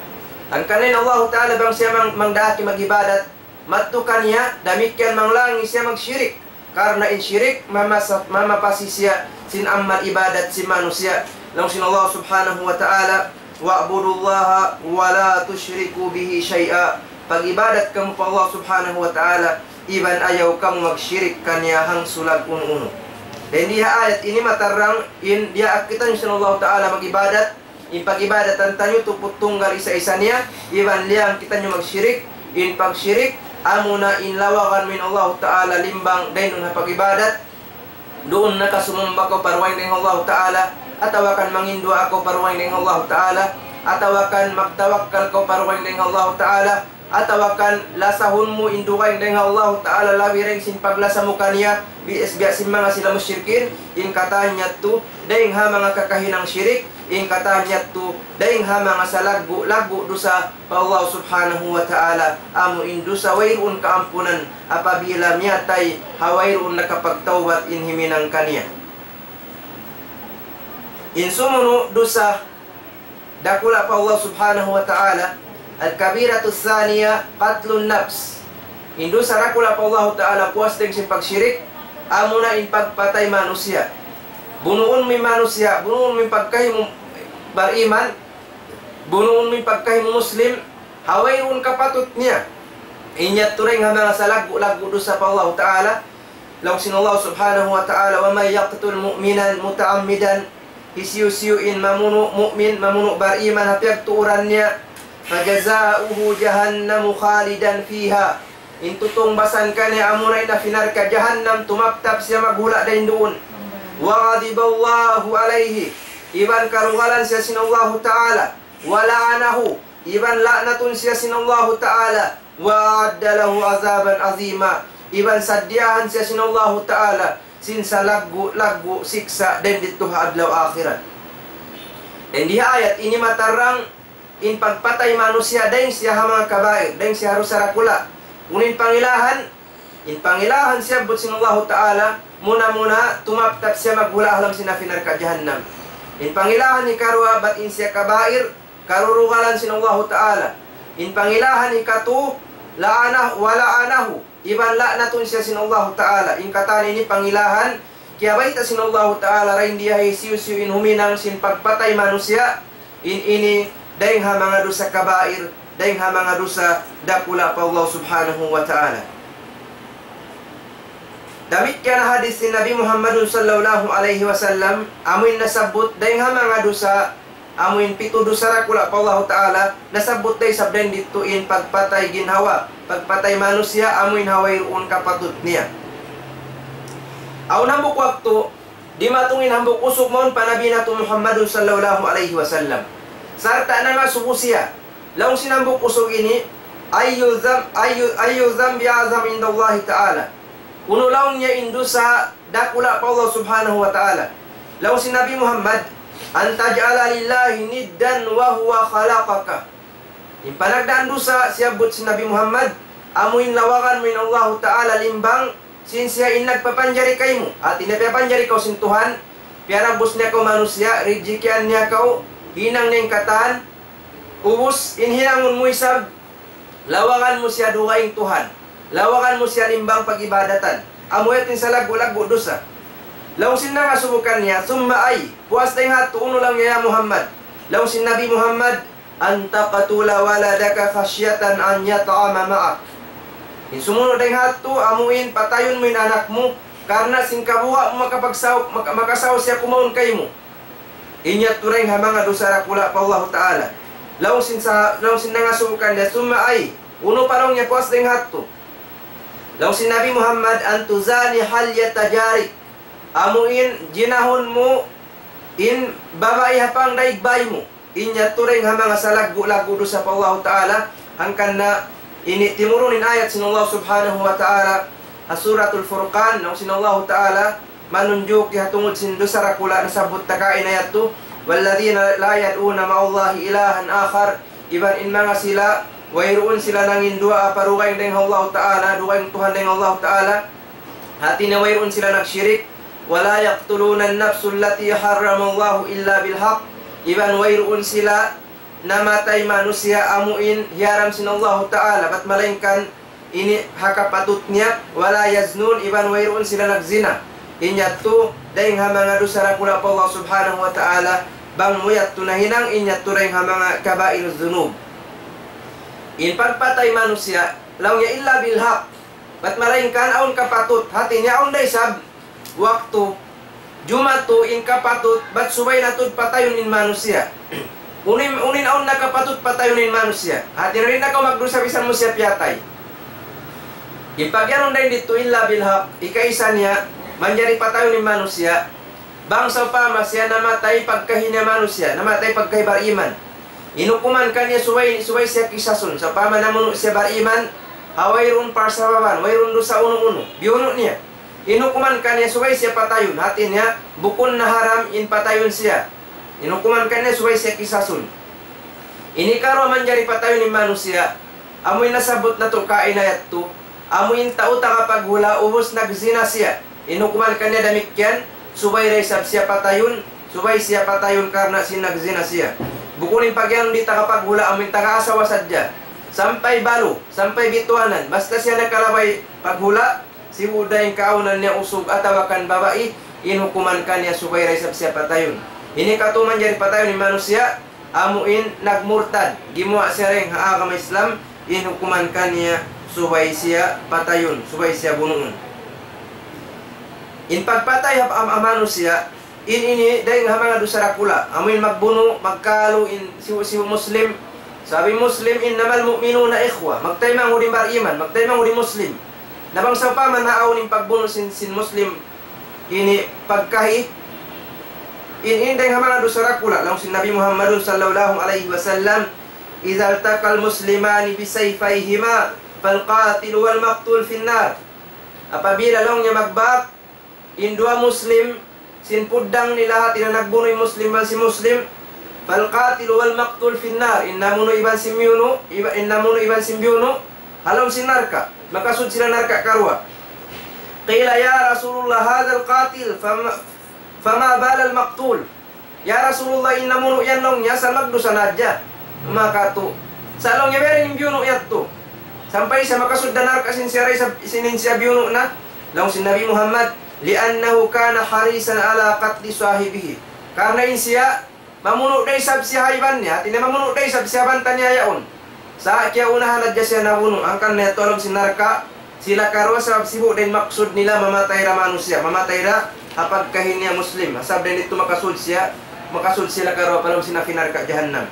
Hangkan in Allah Ta'ala bang siya mang-, mangdaak mag-ibadat, madtu kaniya, damikkiyan manglangi siya magshirik. Karna' in shirik, mamasa-, mamapasi siya sin amal ibadat sin manusiya'. Laung sin Allah Subhanahu wa Ta'ala, "Wa'budullaha wa la tushriku bihi shay'a." Pag-ibadat kamu pa Allah Subhanahu wa Ta'ala, iban ayaw kamu magshirik kaniya hangsulag unu-unu. Dayn di ha ayat ini matarrang in diyaak kitaniyu sin Allah Ta'ala mag-ibadat, in pag-ibadatan taniyu tuput tunggal isa-isa niya, iban liyang kitaniyu magshirik, in pagshirik, amuna in lawagan mu in Allah Ta'ala limbang dayn duun ha pag-ibadat, duun na ka sumumba kaw pa dugaing dayn ha Allah Ta'ala, atawa kan manginduwaa kaw pa dugaing dayn ha Allah Ta'ala, atawa kan magtawakkal kaw pa dugaing dayn ha Allah Ta'ala, atawa kan lasahun mu in dugaing dayn ha Allah Ta'ala labi dayn sin paglasa mu kaniya, bi-, biya' sin manga sila mushrikin, in katan yadtu, dayn ha manga kakahinang shirik, in katan yadtu, dayn ha manga salaggu'-laggu' dusa pa Allah Subhanahu wa Ta'ala, amu in dusa wayruun kaampunan apabila miyatay ha wayruun nakapagtawbat in himinang kaniya. In sumunu' dusa dakula' pa Allah Subhanahu wa Ta'ala, الكبيرة الثانية قتل النفس. In dusa dakula' pa Allah Ta'ala puas dayn sin pagshirik, amuna in pagpatay manusiya'. Bunuun mu in manusiya', bunuun mu in pagkahi mu bariman, bunuun mu in pagkahi mu Muslim, ha wayruun kapatut niya. In yadtu dayn ha manga salaggu'-laggu' dusa pa Allah Ta'ala. Laung sin Allah Subhanahu wa Ta'ala, "ومن يقتل مؤمنا متعمدا." Hisiyu-siyu in mamunu' mu'min, mamunu' bariman ha piyagtuuran niya, "فجزاؤه جهنم خالدا فيها." In tutungbasan kaniya amuna in api narka' jahannam, tumaptap siya maghula' dayn duun. "وغضب الله عليه." Iban karugalan siya sin Allahu Ta'ala. "ولعنه." Iban la'natun siya sin Allahu Ta'ala. "وأعد له عذابا عظيما." Iban sadiyahan siya sin Allahu Ta'ala sin salaggu'-laggu' siksa' dayn didtu ha adlaw akhirat. Dayn di ha ayat ini matarrang in pagpatay manusiya' dayn siya ha manga kabair, dayn siya ha dusa dakula'. Unu in pangilahan, in pangilahan siyabbut sin Allahu Ta'ala, muna-muna tumaptap siya maghula' ha lawm sin api narka' jahannam. In pangilahan hikaruwa bat in siya kabair, karurugalan sin Allahu Ta'ala. In pangilahan hikatu, لعنه، ولعنه. Iban la'natun siya sin Allahu Ta'ala. In katan ini pangilahan, kiyabayta' sin Allahu Ta'ala, dayn di ha hisiyu-siyu in huminang sin pagpatay manusiya', in ini dayn ha manga dusa kabair, dayn ha manga dusa dakula' pa Allah Subhanahu wa Ta'ala. Damikkiyan hadis sin Nabi Muhammadun sallallahu alayhi wasallam, amuin nasabbut dayn ha manga dusa, amuin pitu dusa dakula' pa Allahu Ta'ala, nasabbut da isab dayn didtu in pagpatay ginhawa, pagpatay manusiya', amuin ha wayruun kapatut niya. Awn hambuuk waktu, dimatung in hambuuk usug mawn pa Nabi natu' Muhammadun sallallahu alayhi wasallam. Sarta' nangasubu siya. Laung sin hambuuk usug ini, أي ذنب، أي، أي الذنب أعظم عند الله تعالى. Unu laung niya in dusa dakula' pa Allah Subhanahu wa Ta'ala. Laung sin Nabi Muhammad, أن تجعل لله ندا وهو خلقك. In panagnaan dusa, siyabbut sin Nabi Muhammad, amuin lawagan mu in Allahu Ta'ala limbang, sin siya in nagpapanjari kaymu. Hati niya piyapanjari kaw sin Tuhan, piyarabbus niya kaw manusiya', rijikian niya kaw, hinang niya in katan, ubus in hinangun mu isab, lawagan mu siya dugaing Tuhan. Lawagan mu siya limbang pag-ibadatan. Amu yadtu in salaggu'-laggu' dusa. Laung sin nangasubu kaniya, ثم أي, puas dayn ha yadtu unu laung niya ya Muhammad. Laung sin Nabi Muhammad, أن تقتل ولدك خشية أن يطعم معك. In sumunu' dayn ha yadtu, amuin patayun mu in anak mu, karna' sin kabuga' mu makapagsaw-, maka-, makasaw siya kumaun kaymu. In yadtu dayn ha manga dusa dakula' pa Allahu Ta'ala. Laung sin sa-, laung sin nangasubu kaniya, ثم أي, unu pa laung niya puas dayn ha yadtu. Laung sin Nabi Muhammad, أن تزاني حليلة جارك. Amuin jinahun mu in babai ha pangdaig bay mu. In yadtu dayn ha manga salaggu'-laggu' dusa pa Allahu Ta'ala, hangkan na ini timurun in ayat sin Allah Subhanahu wa Ta'ala, ha Suratul Furqan, laung sin Allahu Ta'ala, manunjuki ha tungud sin dusa dakula' nasabbut ta kaina yadtu, والذين لا يدعون مع الله إلها آخر, iban in manga sila, wayruun sila nangindua pa dugaing dayn ha Allah Ta'ala, dugaing Tuhan dayn ha Allah Ta'ala. Hati niya wayruun sila nagshirik. ولا يقتلون النفس التي حرم الله إلا بالحق, iban wayruun sila namatay manusiya' amu in hiyaram sin Allahu Ta'ala, bat malaingkan ini ha kapatut niya. ولا يزنون, iban wayruun sila nagzina. In yadtu, dayn ha manga dusa dakula' pa Allah Subhanahu wa Ta'ala, bang mu yadtu nahinang, in yadtu dayn ha manga كبائر الذنوب. In pagpatay manusiya', laung niya إلا بالحق. Bat malaingkan awn kapatut, hati niya awn da isab waktu, jumatu in kapatut, bat subay na tuud patayun in manusiya'. Unu in, unu in awn na kapatut patayun in manusiya'. Hati niya di' na kaw magdusa bisan mu siya piyatay. In pagiyanun dayn didtu إلا بالحق, hikaisa niya, manjari patayun in manusiya'. Bang sawpama siya namatay pagkahi niya manusiya', namatay pagkahi bariman. In hukuman kaniya subay, subay siya kisasun. Sawpama namunu' siya bariman, ha wayruun parsababan, wayruun dusa unu-unu. Biyunu' niya. In hukuman kaniya subay siya patayun. Hati niya, bukun na haram in patayun siya. In hukuman kaniya subay siya kisasun. In hikaruwa manjari patayun in manusiya', amu in nasabbut natu' kaina yadtu, amu in tau tagapaghula' ubus nagzina siya. In hukuman kaniya damikkiyan, subay da isab siya patayun, subay siya patayun karna' sin nagzina siya. Bukun in pagiyanun di' tagapaghula', amu in taga-asawa sadja. Sampay balu, sampay bituanan, basta siya nakalabay paghula', sibu' da in kaawnan niya usug atawa kan babai, in hukuman kaniya subay da isab siya patayun. In hikatu manjari patayun in manusiya', amu in nagmurtad, gimuwa' siya dayn ha agama Islam, in hukuman kaniya subay siya patayun, subay siya bunuun. In pagpatay ha, ha, ha manusiya', in ini dayn ha manga dusa dakula', amu in magbunu', magkalu in sibu'-sibu' Muslim. Sabab in Muslim, إنما المؤمنون إخوة. Magtaymanghud in bariman, magtaymanghud in Muslim. Na bang sawpama naawn in pagbunu' sin, sin Muslim, ini pagkahi, in, in dayn ha manga dusa dakula', laung sin Nabi Muhammadun sallallahu alayhi wasallam, إذا التقى المسلمان بسيفيهما فالقاتل والمقتول في النار. Apabila laung niya magbak in duwa Muslim, sin puddang nila, hati niya nagbunu' in Muslim iban sin Muslim, فالقاتل والمقتول في النار, in namunu' iban sin biyunu', iba-, in namunu' iban sin biyunu', ha lawm sin narka', makasud sila narka' karuwa. قيل يا رسول الله هذا القاتل فما، فما بال المقتول؟ Ya Rasulullah, in namunu' yan laung niya, asal magdusa na hadja. Makatu'. Sa' laung niya, biyarin in biyunu' yadtu. Sampay siya makasud da narka' sin siya da isab, sin in siya biyunu' na. Laung sin Nabi Muhammad, لأنه كان حريصا على قتل صاحبه. Karna' in siya, mamunu' da isab siya ha iban niya, hati niya mamunu' da isab siya banta niya yaun. Sa' kiyaunahan hadja siya nabunu', hangkan na yadtu ha lawm sin narka', sila karuwa sabab sibu' da in maksud nila mamatay da manusiya', mamatay da ha pagkahi niya Muslim, sabab da in yadtu makasud siya, makasud sila karuwa pa lawm sin api narka' jahannam.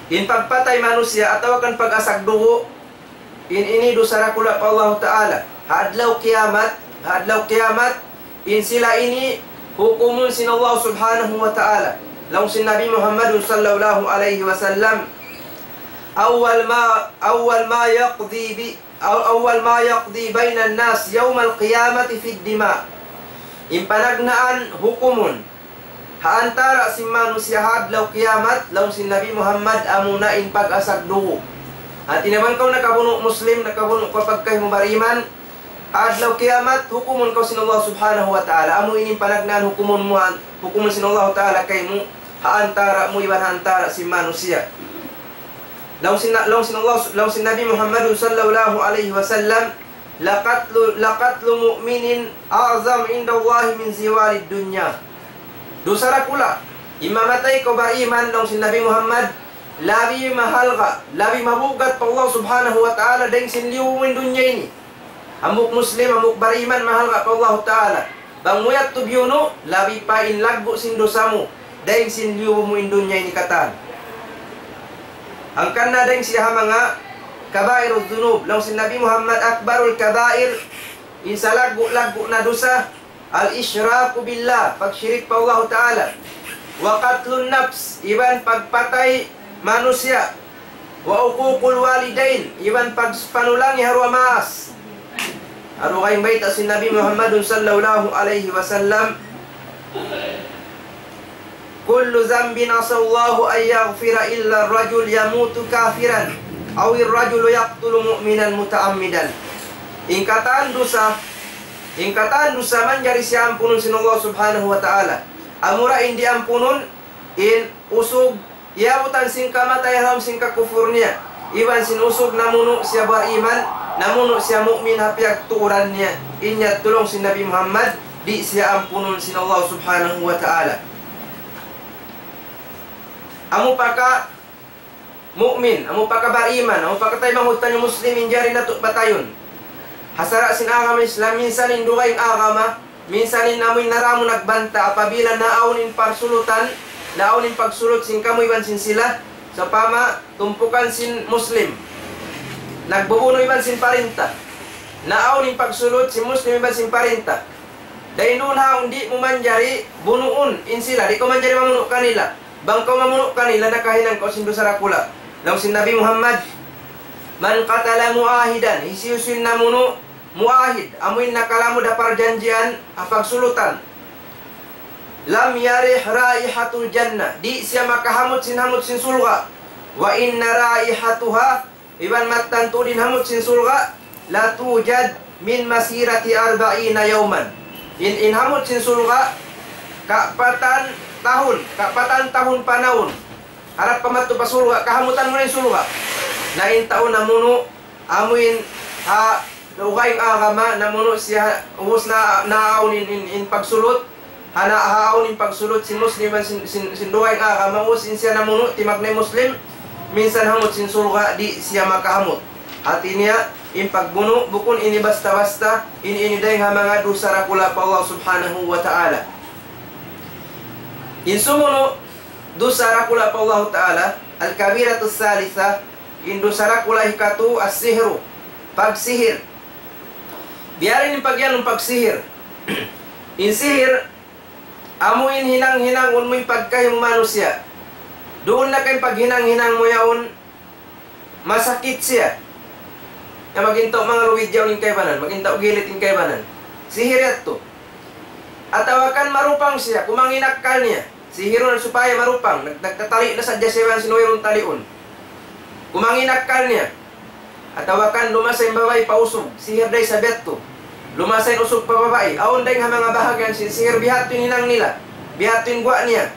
In pagpatay manusiya' atawa kan pag-asag dugu', in ini dusa dakula' pa Allahu Ta'ala. Ha adlaw kiyamat, ha adlaw kiyamat, in sila ini hukumun sin Allah Subhanahu wa Ta'ala. Laung sin Nabi Muhammadun sallallahu alayhi wasallam, أول ما، أول ما يقضي ب-، أو-، أول ما يقضي بين الناس يوم القيامة في الدماء. In panagnaan hukumun ha antara' sin manusiya' ha adlaw kiyamat, laung sin Nabi Muhammad, amuna in pag-asag dugu'. Hati niya bang kaw nakabunu' Muslim, nakabunu' kaw pagkahi mu bariman, ha adlaw kiyamat, hukumun kaw sin Allah Subhanahu wa Ta'ala. Amu ini in panagnaan hukumun mu, hukumun sin Allah Ta'ala kaymu, ha antara' mu iban ha antara' sin manusiya'. Laung sin, laung sin Allah, laung sin Nabi Muhammadun sallallahu alayhi wasallam, لقتل، لقتل مؤمن أعظم عند الله من زوال الدنيا. Dusa dakula', in mamatay kaw bariman, laung sin Nabi Muhammad, labi mahalga', labi mabugat pa Allah Subhanahu wa Ta'ala dayn sin liyubu mu in dunya ini. Hambuuk Muslim, hambuuk bariman, mahalga' pa Allah Ta'ala. Bang mu yadtu biyunu', labi pa in laggu' sin dusa mu, dayn sin liyubu mu in dunya ini katan. Hangkan na dayn siya ha manga كبائر الذنوب. Laung sin Nabi Muhammad, أكبر الكبائر, in salaggu'-laggu' na dusa, الإشراك بالله, pagshirik pa Allahu Ta'ala. وقتل النفس, iban pagpatay manusiya'. وعقوق الوالدين, iban pagpanulangi ha duwa maas. Aru kay bayta' sin Nabi Muhammadun sallallahu alayhi wasallam, كل ذنب عسى الله أن يغفر إلا الرجل يموت كافرا أو الرجل يقتل مؤمنا متعمدا. In katan dusa, in katan dusa manjari siya ampunun sin Allah Subhanahu wa Ta'ala. Amura in diampunun, in usug, iyabutan sin kamatay ha lawm sin kakufur niya, iban sin usug namunu' siya bariman, namunu' siya mu'min ha piyagtuuran niya. In yadtu laung sin Nabi Muhammad, di' siya ampunun sin Allah Subhanahu wa Ta'ala. Amu pa ka mu'min, amu pa ka bariman, amu pa ka taymanghud taniyu Muslim in jari natu' patayun. Ha sara' sin agama Islam, minsan in dugaing agama, minsan in amu in naramu nagbanta', apabila naawn in pagsulutan, naawn in pagsulut sin kamu iban sin sila, sawpama tumpukan sin Muslim nagbubunu' iban sin parinta, naawn in pagsulut sin Muslim iban sin parinta. Dayn duun ha yaun di' mu manjari bunuun in sila, di' kaw manjari mamunu' kanila. Bang kaw mamunu' kanila, nakahinang kaw sin dusa dakula'. Laung sin Nabi Muhammad, من قتل معاهدا, hisiyu-siyu in namunu' mu'ahid, amu in nakalamud ha parjanjian, ha pagsulutan, لم يرح رائحة الجنة, di' siya makahamut sin hamut sin surga'. وإن رائحتها, iban mattan tuud in hamut sin surga', لتوجد من مسيرة أربعين يوما. In, in hamut sin surga', kapatan tahun, kapatan tahun panawn. Harap pa madtu pa surga', kahamutan mu na in surga'. Na in tau namunu', amu in, ha, dugaing agama, namunu' siya, ubus na, naawn in, in, in pagsulut, ha, na, ha awn in pagsulut sin Muslim iban sin, sin, sin dugaing agama, ubus in siya namunu', timagnay Muslim, minsan hamut sin surga', di' siya makahamut. Hati niya, in pagbunu', bukun ini basta-basta, ini, ini dayng ha manga dusa dakula' pa Allah Subhanahu wa Ta'ala. In sumunu' dusa dakula' pa Allah Ta'ala, الكبيرة الثالثة, in dusa dakula' hikatu, السحر, pagsihir. Biya' diin in pagiyanun pagsihir? In sihir, amu in hinang-hinangun mu in pagkahi mu manusiya'. Duun na ka in paghinang-hinang mu yaun, masakit siya. Na magin tau manga luwid yaun in kaibanan, magin tau gilit in kaibanan. Sihir yadtu. Atawa kan marupang siya, kumangi' in akkal niya. Sihirun supaya marupang, nag-, nagtatali' na sadja siya iban sin wayruun taliun. Kumangi' in akkal niya. Atawa kan lumasa in babai pa usug, sihir da isab yadtu. Lumasa in usug pa babai, awn dayng ha manga bahagian sin sihir, biya' hādtu in hinang nila, biya' hādtu in guwa' niya.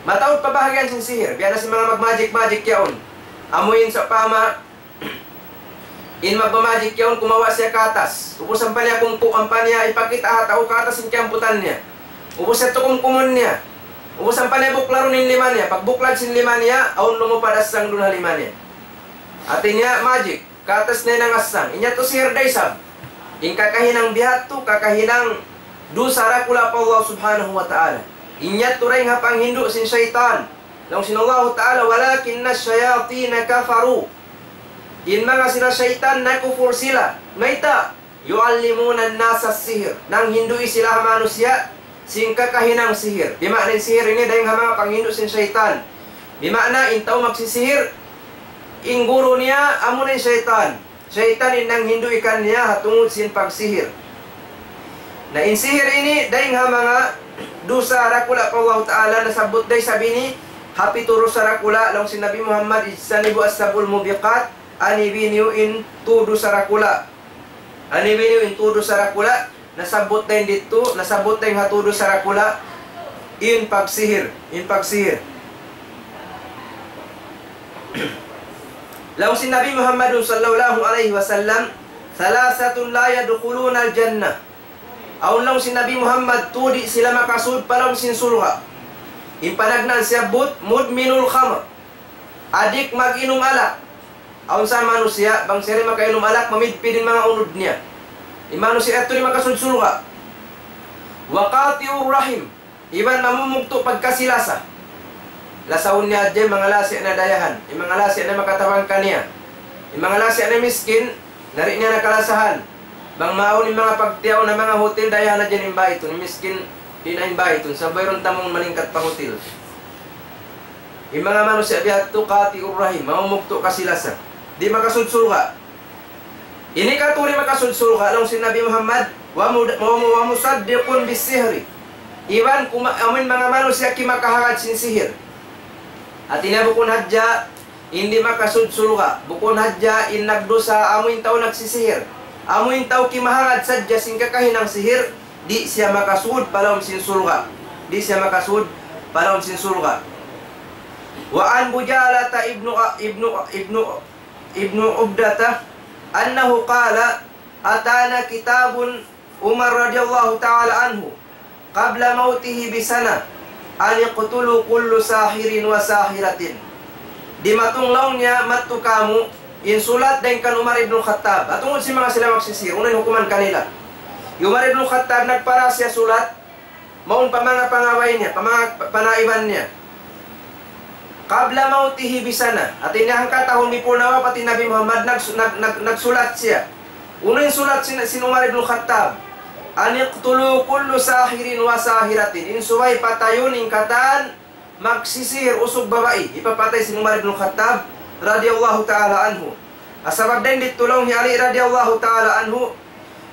Mataud pa bahagian sin sihir, biya' na sin manga magmagic-magic yaun. Amu in sawpama, in magmamagic yaun, kumawa' siya katas. Ubus ampa niya kumku-, ampa niya ipakita' ha tau katas in kiyamputan niya. Ubus yadtu kumkumun niya. Ubus ampa niya buklarun in lima niya. Pagbuklad sin lima niya, awn lumupad assang duun ha lima niya. Hati niya magic, katas na hinang assang. In yadtu sihir da isab. In kakahinang biya' hādtu, kakahinang dusa dakula' pa Allah Subhanahu wa Ta'ala. In yadtu dayng ha panghindu' sin saytan. Laung sin Allahu Ta'ala, ولكن الشياطين كفروا. In manga sila saytan nakufur sila. Mayta'? يعلمون الناس السحر. Nanghindu'i sila ha manusiya' sin kakahinang sihir. Di' maana in sihir ini dayng ha manga panghindu' sin saytan. Di' maana in tau magsisihir, in guru niya, amu na in saytan. Saytan in nanghindu'i kaniya ha tungud sin pagsihir. Na in sihir ini, dayng ha manga dusa dakula' pa Allahu Ta'ala, nasabbut da isab ini ha pitu dusa dakula', laung sin Nabi Muhammad, اجتنبوا السبع الموبقات, anibi niyu in tū dusa dakula'. Anibi niyu in tū dusa dakula', nasabbut da in didtu, nasabbut da in ha tū dusa dakula', in pagsihir, in pagsihir. Laung sin Nabi Muhammad sallallahu alayhi wasallam, ثلاثة لا يدخلون الجنة. Awn laung sin Nabi Muhammad, tū di' sila makasud pa lawm sin surga'. In panagnaan siyabbut, مدمن الخمر. Adik mag-inum alak. Awn sa manusiya', bang siya di' makainum alak, mamidpid in manga unud niya. In manusiya' yadtu di' makasud surga'. وقاطع الرحم. Iban mamumugtu' pagkasi-lasa. Lasahun niya hadja in manga lasa' niya dayahan. In manga lasa' niya makatabang kaniya. In manga lasa' niya miskin, na di' niya na kalasahan. Bang maawn in manga pagtiyaun ha manga hotel, dayahan hadja in baytun. In miskin, di' na in baytun. Sa' wayruun tamung malingkat pa hotel. In manga manusiya' biya' hādtu قاطع الرحم, mamumugtu' kasi-lasa. Di' makasud surga'. Ini katu' di' makasud surga', laung sin Nabi Muhammad, ومد-، وم-، ومصدق بالسحر. Iban kuma-, amuin manga manusiya' kimakahagad sin sihir. Hati niya bukun hadja in di' makasud surga', bukun hadja in nagdusa, amuin tau nagsisihir. Amuin tau kimahagad sadja sin kakahinang sihir, di' siya makasud pa lawm sin surga'. Di' siya makasud pa lawm sin surga'. وعن بجالة ابن، ابن، ابن، ابن عبدة أنه قال: أتانا كتاب عمر رضي الله تعالى عنه قبل موته بسنة أن اقتلوا كل ساحر وساحرة. Dimatung laung niya madtu kāmu' in sulat dayn kan Umar ibn Khattab. Tungud sin manga sila magsisihir, unu in hukuman kanila. Hi Umar ibn Khattab nagpara siya sulat, mawn pa manga pangabay niya, pa manga pa-, panaiban niya. قبل موته بسنة. Hati niya hangka tahun before nawapat in Nabi Muhammad, nag-, nag-, nag-, nagsulat siya. Unu in sulat sin, sin Umar ibn Khattab? أن اقتلوا كل ساحر وساحرة. In subay patayun in katan magsisihir usug babai. Hipapatay sin Umar ibn Khattab radiyallahu ta'ala anhu. Sabab dayn didtu laung hi Ali radiyallahu ta'ala anhu,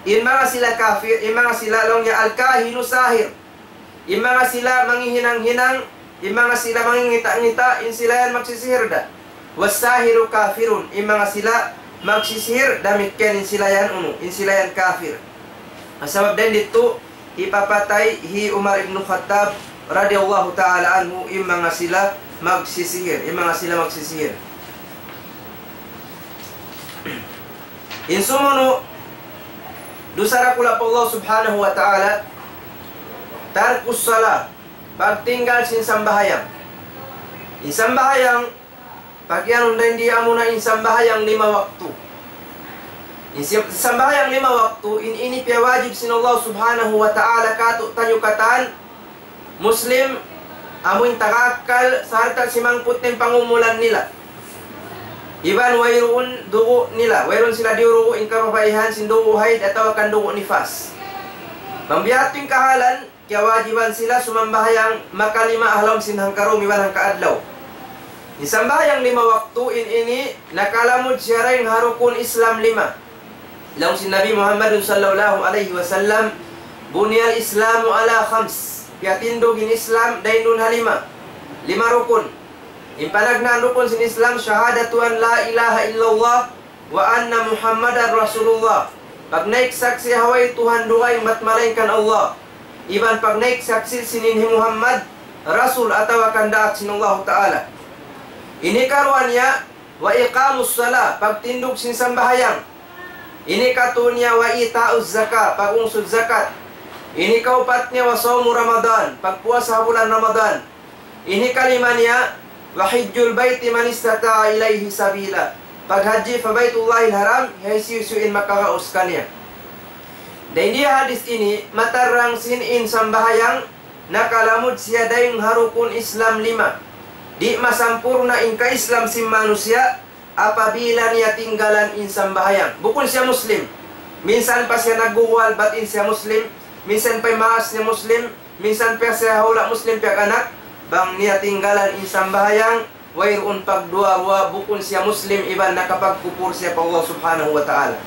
in manga sila kafir, in manga sila laung niya الكاهن ساحر. In manga sila manghihinang-hinang, in manga sila mangingita'-ngita', in sila yan magsisihir da. والساحر كافر, in manga sila magsisihir, damikkiyan in sila yan unu, in sila yan kafir. Sabab dayn didtu, hipapatay hi Umar ibn Khattab radiyallahu ta'ala anhu, in manga sila magsisihir, in manga sila magsisihir. In sumunu', dusa dakula' pa Allah Subhanahu wa Ta'ala, ترك الصلاة, pagtinggal sin sambahayang. In sambahayang, pagiyanun dayn di amuna in sambahayang lima waktu. In si-, sambahayang lima waktu, in ini piyawajib sin Allah Subhanahu wa Ta'ala kātu'niyu katan Muslim, amuin taga akkal, sarta' simangput in pangumulan nila. Iban wayruun dugu' nila, wayruun sila diyurugu' in kababaihan sin dugu' hayd atawa kan dugu' nifas. Bang biya' ha yan in kahalan, kiyawajiban sila sumambahayang makalima ha lawm sin hangka dum iban hangka adlaw. In sambahayang lima waktu in ini, nakalamud siya dayn ha rukun Islam lima. Laung sin Nabi Muhammadun sallallahu alayhi wasallam, بني الإسلام على خمس. Piyatindug in Islam dayn duun ha lima. Lima rukun. In panagnaan rukun sin Islam, شهادة أن لا إله إلا الله وأن محمدا رسول الله. Pagnaik saksi' ha way Tuhan dugaing bat malaingkan Allah. Iban pagnaik saksi' sin in hi Muhammad Rasul atawa kan daak sin Allahu Ta'ala. In hikaruwa niya, وإقام الصلاة, pagtindug sin sambahayang. In hikatū niya, وإيتاء الزكاة, pag-ungsud zakat. In hikaupat niya, وصوم رمضان, pagpuasa ha bulan Ramadan. In hikalima niya, وحج البيت من استطاع إليه سبيلا, paghajji pa Baytullahil Haram, ha hisiyu-siyu in makagaus kaniya. Dayn di ha hadis ini, matarrang sin in sambahayang, nakalamud siya dayn ha rukun Islam lima. Di' masampurna' in ka-Islam sin manusiya', apabila niya tinggalan in sambahayang. Bukun siya Muslim. Minsan pa siya nagguguwal, bat in siya Muslim. Minsan pa in maas niya Muslim. Minsan pa siya hula' Muslim piyag-anak. Bang niya tinggalan in sambahayang, wayruun pagduwa-ruwa, bukun siya Muslim, iban nakapagkupur siya pa Allah Subhanahu wa Ta'ala.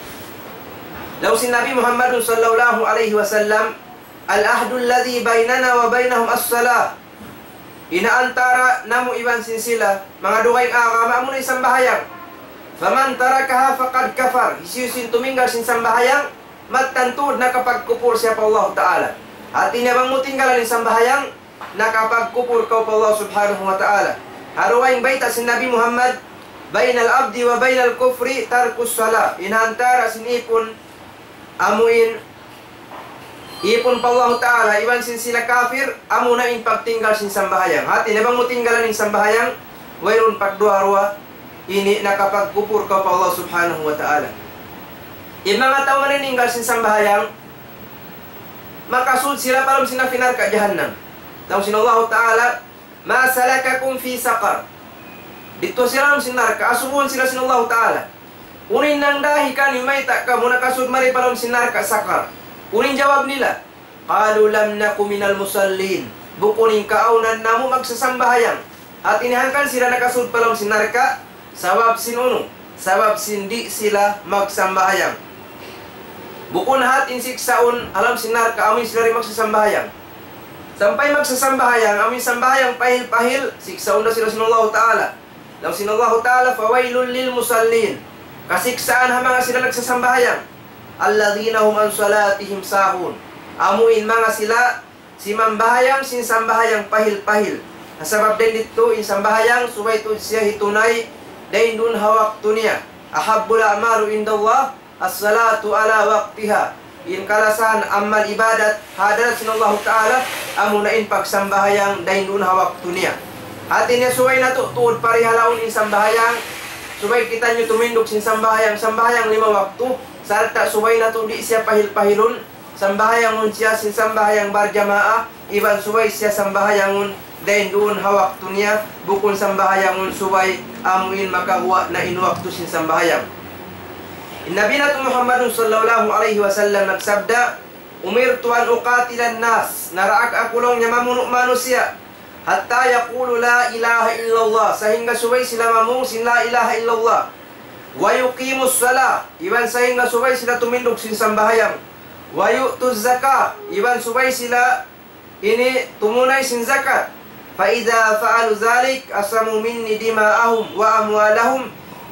Laung sin Nabi Muhammadun sallallahu alayhi wasallam, العهد الذي بيننا وبينهم الصلاة. In ha antara namu' iban sin sila, manga dugaing agama, amuna in sambahayang. فمن تركها فقد كفر. Hisiyu-siyu in tuminggal sin sambahayang, mattan tuud nakapagkupur siya pa Allah Ta'ala. Hati niya bang mu tinggalan in sambahayang, nakapagkupur kaw pa Allah Subhanahu wa Ta'ala. Ha dugaing bayta' sin Nabi Muhammad, بين العبد وبين الكفر ترك الصلاة. In ha antara sin ipun amuin ipun pa Allahu Ta'ala, iban sin sila kafir, amuna in pagtinggal sin sambahayang. Hati niya bang mu tinggalan in sambahayang, wayruun pagduwa-ruwa, ini nakapagkupur kaw pa Allah Subhanahu wa Ta'ala. In manga tau maninggal sin sambahayang, makasud sila pa lawm sin api narka' jahannam. Laung sin Allahu Ta'ala, ما سلككم في سقر. Didtu sila ha lawm sin narka', asubuhun sila sin Allahu Ta'ala. Unu in nangdahi kaniyu mayta' kamu nakasud mari pa lawm sin narka' Saqar? Unu in jawab nila? قالوا لم نك من المصلين. Bukun in kaawnan namu' magsasambahayang. Hati niya hangkan sila nakasud pa lawm sin narka', sabab sin unu, sabab sin di' sila magsambahayang. Bukun hat in siksaun ha lawm sin narka', amu in sila di' magsasambahayang. Sampay magsasambahayang, amu in sambahayang pahil-pahil, siksaun da sila sin Allahu Ta'ala. Laung sin Allahu Ta'ala, فويل للمصلين. Kasiksaan ha manga sila nagsasambahayang. الذين هم عن صلاتهم ساهون. Amu in manga sila simambahayang sin sambahayang pahil-pahil. Sabab dayn didtu in sambahayang subay tuud siya hitunay dayn duun ha waktu niya. أحب الأعمال عند الله الصلاة على وقتها. In kalasahan amal ibadat ha hadarat sin Allahu Ta'ala, amuna in pagsambahayang dayn duun ha waktu niya. Hati niya subay natu' tuud parihalaun in sambahayang, subay kitaniyu tumindug sin sambahayang, sambahayang lima waktu, sarta' subay natu' di' siya pahil-pahilun, sambahayangun siya sin sambahayang barjamaah, iban subay siya sambahayangun dayn duun ha waktu niya, bukun sambahayangun subay amu in makaguwa' na in waktu sin sambahayang. In Nabi natu' Muhammadun sallallahu alayhi wasallam nagsabda, أمرت أن أقاتل الناس, naraak aku laung niya mamunu' manusiya', حتى يقولوا لا إله إلا الله, sahingga subay sila mamung sin لا إله إلا الله, ويقيموا الصلاة, iban sahingga subay sila tumindug sin sambahayang, ويؤتوا الزكاة, iban subay sila ini tumunay sin zakat. فإذا فعلوا ذلك عصموا مني دماءهم وأموالهم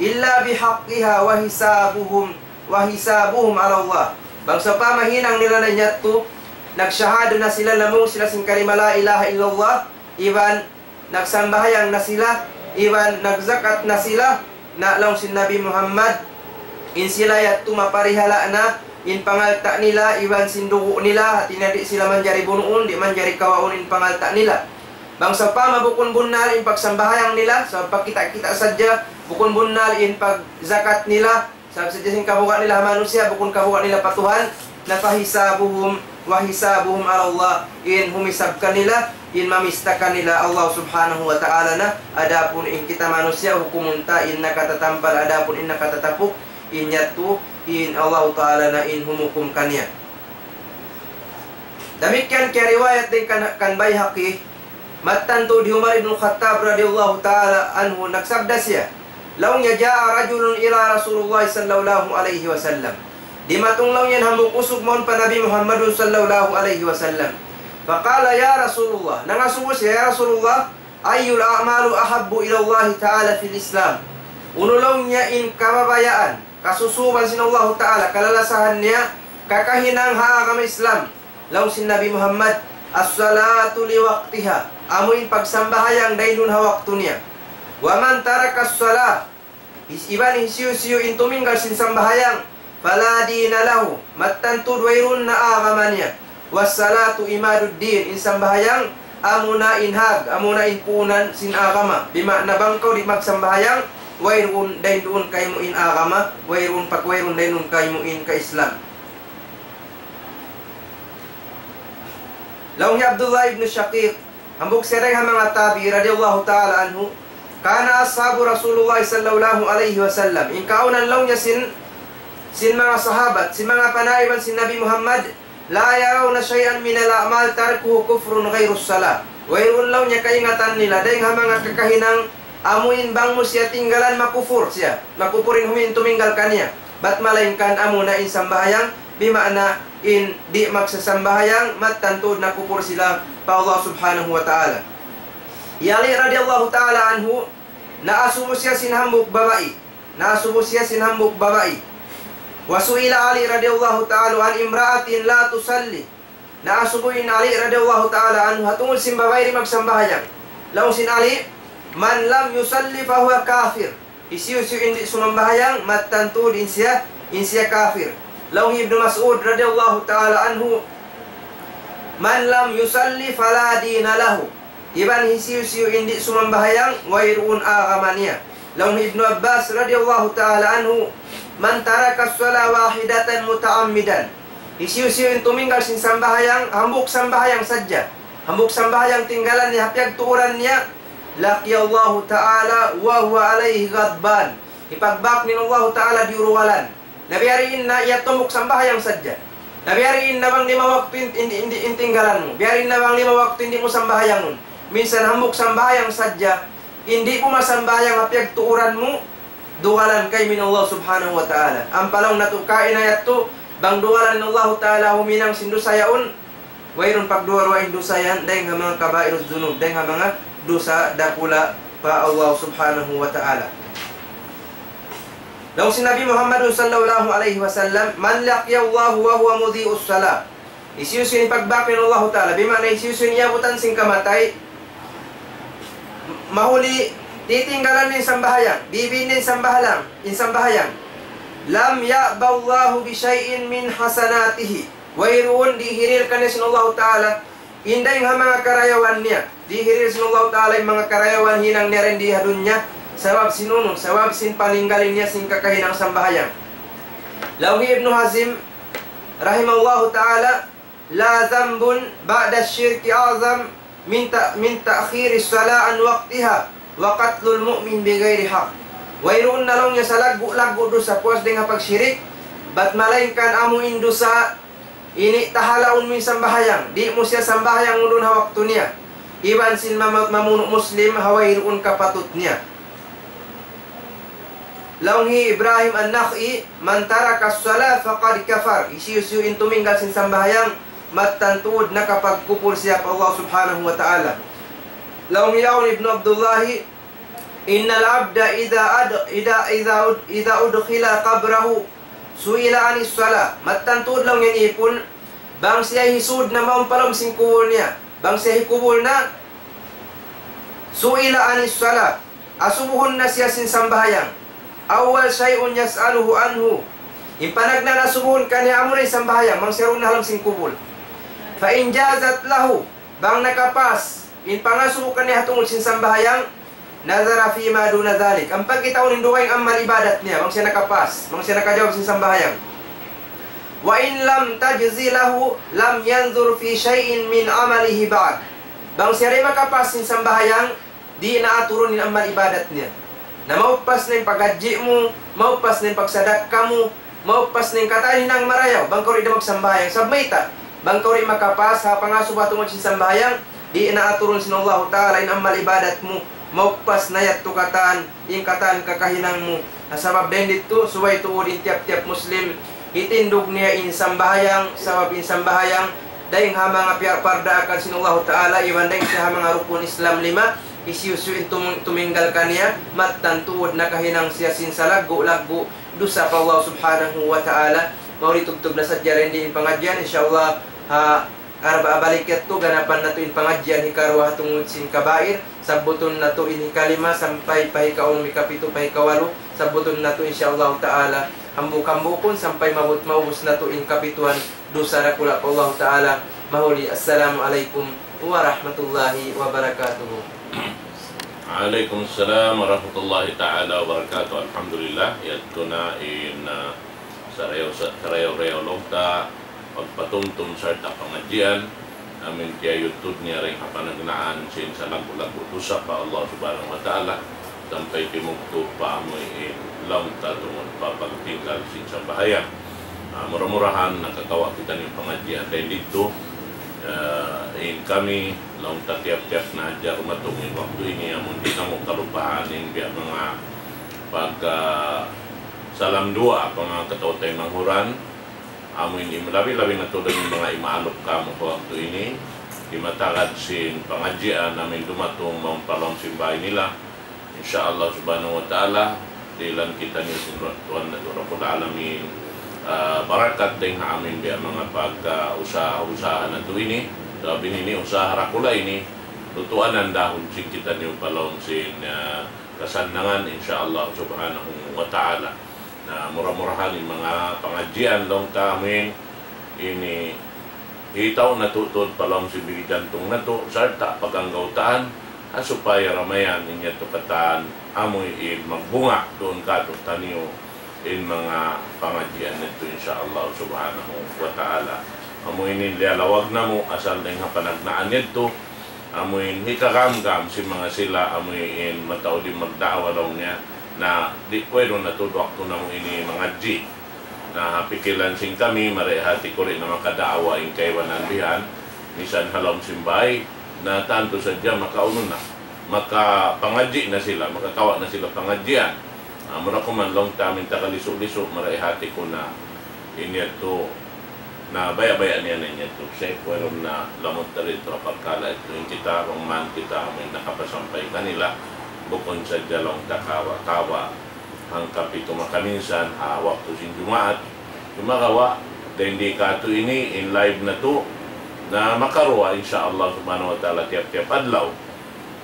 إلا بحقها وحسابهم وحسابهم على الله. Bang sawpama hinang nila na in yadtu, nagsahada na sila, namung sila sin kalima لا إله إلا الله, iban nagsambahayang na sila, iban nagzakat na sila, na laung sin Nabi Muhammad, in sila yadtu maparihala' na in pangalta' nila, iban sin dugu' nila, hati niya di' sila manjari bunuun, di' manjari kawaun in pangalta' nila. Bang sawpama bukun bunnal in pagsambahayang nila, sa' pagkita'-kita' sadja, bukun bunnal in pagzakat nila, sabab sadja sin kabuga' nila ha manusiya', bukun kabuga' nila pa Tuhan, na فحسابهم وحسابهم على الله, in humisab kanila, in mamista kanila Allah Subhanahu wa Ta'ala na, adapun in kita manusiya', hukumun ta in nakatatampal, adapun in nakatatapuk, in yadtu, in Allah Ta'ala na in humukum kaniya. Damikkiyan kiyariwayat dayn kan, kan Bayhaqi, mattan tuud hi Umar ibn Khattab radiyallahu ta'ala anhu, nagsabda siya, laung niya, جاء رجل إلى رسول الله صلى الله عليه وسلم. Dimatung laung niya in hambuuk usug mawn pa Nabi Muhammadun sallallahu alayhi wasallam. فقال يا رسول الله, nangasubu siya, "Ya Rasulullah, أي الأعمال أحب إلى الله تعالى في الإسلام؟" Unu laung niya in kababayaan, kasusuban sin Allahu Ta'ala, kalalasahan niya, kakahinang ha agama Islam? Laung sin Nabi Muhammad, الصلاة لوقتها, amu in pagsambahayang dayn duun ha waktu niya. ومن ترك الصلاة, his-, iban hisiyu-siyu in tuminggal sin sambahayang, فلا دين له, mattan tuud wayruun na agama niya. والصلاة عماد الدين, in sambahayang amuna in hag, amuna in puunan sin agama. Bima'na bang kaw di' magsambahayang, wayruun dayn duun kaymu in agama, wayruun pag-, wayruun dayn duun kaymu in ka-Islam. Laung hi Abdullah ibn Shaqiq, hambuuk siya dayn ha manga tabi'i radiyallahu ta'ala anhu, كان أصحاب رسول الله صلى الله عليه وسلم, in kaawnan laung niya sin, sin manga sahabat, sin manga panaiban sin Nabi Muhammad, لا يرون شيئا من الأعمال تركه كفر غير الصلاة. Wayruun laung niya kaingatan nila, dayn ha manga kakahinang, amu in bang mu siya tinggalan makufur siya, makufur in humi-, in tuminggal kaniya. Bat malaingkan amuna in sambahayang, bima'na in di' magsasambahayang, mattan tuud nakufur sila pa Allah Subhanahu wa Ta'ala. Hi Ali radiyallahu ta'ala anhu, naasubu siya sin hambuuk babai. Naasubu siya sin hambuuk babai. وسئل علي رضي الله تعالى عن امرأة لا تصلي. Naasubu in Ali radiyallahu ta'ala anhu ha tungud sin babai di' magsambahayang. Laung sin Ali, من لم يصل فهو كافر. Hisiyu-siyu in di' sumambahayang, mattan tuud in siya, in siya kafir. Laung hi Ibnu Mas'ud radiyallahu ta'ala anhu, من لم يصل فلا دين له. Iban hisiyu-siyu in di' sumambahayang, wayruun agama niya. Laung hi Ibnu Abbas radiyallahu ta'ala anhu, من ترك الصلاة واحدة متعمدا. Hisiyu-siyu in tuminggal sin sambahayang, hambuuk sambahayang sadja. Hambuuk sambahayang tinggalan niya, ha piyagtuuran niya, لقي الله تعالى وهو عليه غضبان. Hipagbak niya in Allahu Ta'ala diyuruwalan. Na biya' diin na yadtu hambuuk sambahayang sadja. Na biya' diin na bang lima waktu in, in, in, in tinggalan mu. Biya' diin na bang lima waktu in di' mu sambahayangun. Minsan hambuuk sambahayang sadja, in di' mu masambahayang ha piyagtuuran mu, dugalan kaymu in Allah Subhanahu wa Ta'ala. Ampa laung natu' kaina yadtu, bang dugalan in Allahu Ta'ala huminang sin dusa yaun, Wayruun pagduwa-ruwa in dusa yan, dayn ha manga kabairudh dhunub, dayn ha manga dusa dakula' pa Allah Subhanahu wa Ta'ala. Laung sin Nabi Muhammad sallallahu alayhi wasallam, من لقي الله وهو مضيء الصلاة. Hisiyu-siyu in pagbāk niya in Allahu Ta'ala, bima'na hisiyu-siyu in iyabutan sin kamatay, mahuli titinggalan niya in sambahayang, bibiin niya in sambahayang, in sambahayang. لم يأب الله بشيء من حسناته. Wayruun dihiril kaniya sin Allahu Ta'ala in dayn ha manga karayawan niya. Dihiril sin Allahu Ta'ala in manga karayawan hinang niya dayn di ha dunya. Sabab sin unu, sabab sin paninggalin niya sin kakahinang sambahayang. Laung hi Ibnu Hazm, rahimahullahu ta'ala, لا ذنب بعد الشرك أعظم من ت-، من تأخير الصلاة عن وقتها وقتل المؤمن بغير حق. Wayruun na laung niya salaggu'-laggu' dusa puas dayn ha pagshirik, bat malaingkan amu in dusa ini tahalaun mu in sambahayang, di' mu siya sambahayang duun ha waktu niya. Iban sin mama-, mamunu' Muslim ha wayruun kapatut niya. Laung hi Ibrahim An-Nakha'i, من ترك الصلاة فقد كفر. Hisiyu-siyu in tuminggal sin sambahayang, mattan tuud nakapagkupur siya pa Allah Subhanahu wa Ta'ala. Laung hi Aun ibn Abdullahi, إن العبد إذا أد-، إذا، إذا أد-، إذا أدخل قبره سئل عن الصلاة. Mattan tuud laung niya in ipun, bang siya hisūd na mawn pa lawm sin kubul niya, bang siya hikubul na, سئل عن الصلاة. Asubuhun na siya sin sambahayang. أول شيء يسأله عنه. In panagnaan asubuhun kaniya amuna in sambahayang, bang siya duun na ha lawm sin kubul. فإن جازت له, bang nakapas in pangasubu kaniya ha tungud sin sambahayang, نظر فيما دون ذلك. Ampa kitaun in dugaing amal ibadat niya, bang siya nakapas, bang siya nakajawab sin sambahayang. وإن لم تجز له لم ينظر في شيء من عمله بعد. Bang siya di' makapas sin sambahayang, di' na aturun in amal ibadat niya. Na mauppas na in paghajji mu, mauppas na in pagsadakka mu, mauppas na in katan hinang marayaw, bang kaw di' da magsambahayang. Sabab mayta', bang kaw di' makapas ha pangasubu ha tungud sin sambahayang, di' na aturun sin Allahu Ta'ala in amal ibadat mu, mauppas na yadtu katan, in katan kakahinang mu. Na sabab dayn didtu, subay tuud in tiyap-tiyap Muslim, hitindug niya in sambahayang, sabab in sambahayang, dayn ha manga piyagpardaakan sin Allahu Ta'ala, iban dayn siya ha manga rukun Islam lima, hisiyu-siyu in tum-, tuminggal kaniya, mattan tuud nakahinang siya sin salaggu'-laggu' dusa pa Allah Subhanahu wa Ta'ala. Mahuli tubtub na sadja dayn di in pangadjian, insya Allah, ha, Arba'a balik yadtu, ganapan natu' in pangadjian hikaruwa ha tungud sin kabair, sabbutun natu' in hikalima sampay pa hikaunum, hikapitu, pa hikawalu, sabbutun natu' insya Allah Ta'ala. Hambuuk-hambuukun sampay maabut maubus natu' in kapituan dusa dakula' pa Allah Ta'ala. Mahuli, assalamu alaykum warahmatullahi wabarakatuh. Alaykum assalam warahmatullahi ta'ala wabarakatuh. Alhamdulillah, yadtu na in, ah, sarayaw-, sa-, sarayaw-rayaw laung ta pagpatumtum sarta' pangadjian, amu in tiyayudtud niya dayn ha panagnaan sin salaggu'-laggu' dusa pa Allah Subhanahu wa Ta'ala, sampay timugtug pa amu in laung ta tungud pa pagtinggal sin sambahayang. Ah, mura-murahan nakakawa' kitaniyu pangadjian dayn didtu. Ah, in kami, laung ta tiyap-tiyap na hadja dumatung in waktu ini, amu in di' namu' kalupahan in biya' manga pag, ah, salam duwaa pa manga kataw-taymanghuran, amu in im-, labi-labi na tuud in manga imaalup kamu pa waktu ini, di' matagad sin pangadjian amu in dumatung mawn pa lawm sin bāy nila. Insya Allah Subhanahu wa Ta'ala, dihilan kitaniyu sin Ra-, Tuhan natu' Rabbul Alamin, ah, barakat dayn ha amu in biya' manga pag, ah, usaha-usaha natu' ini, sabab ini usaha dakula' ini, lutuanan dahun sin kitaniyu pa lawm sin, ah, kasannangan, insya Allah Subhanahu wa Ta'ala. Na mura-murahan in manga pangadjian laung ta amu in ini hitaw natu' tuud pa lawm sin bigi jantung natu' sarta' paganggautaan, ha supaya ramayan in yadtu katan amu in magbunga duun kātu'niyu in manga pangadjian natu', insya Allah Subhanahu wa Ta'ala. Amu ini in liyalawag namu' asal dayn ha panagnaan yadtu, amu in hikagamgam sin manga sila, amu in mataud in magda'wa laung niya, na di' wayruun na tuud waktu namu' ini mangadji'. Na pikilan sin kami, mari hati ku di' na makada'wa in kaibanan bihan, misan ha lawm sin bāy, na tantu sadja makaunu na, makapangadji' na sila, makakawa' na sila pangadjian. Ah, mura kuman laung ta amu in takalisu'-lisu', mari hati ku na in yadtu Na baya'-baya' niya na niya tu, Sheikh, wayruun na lamud ta didtu ha parkala' yadtu. In kita, bang man kita amuin nakapasampay kanila, bukun sadja laung ta kawa'-kawa' hangka pitu makaminsan, ha waktu sin Jumaat. Sumagawa', dayn di katu' ini, in live natu', na makaruwa, insya Allah subhanahu wa ta'ala, tiyap-tiyap adlaw.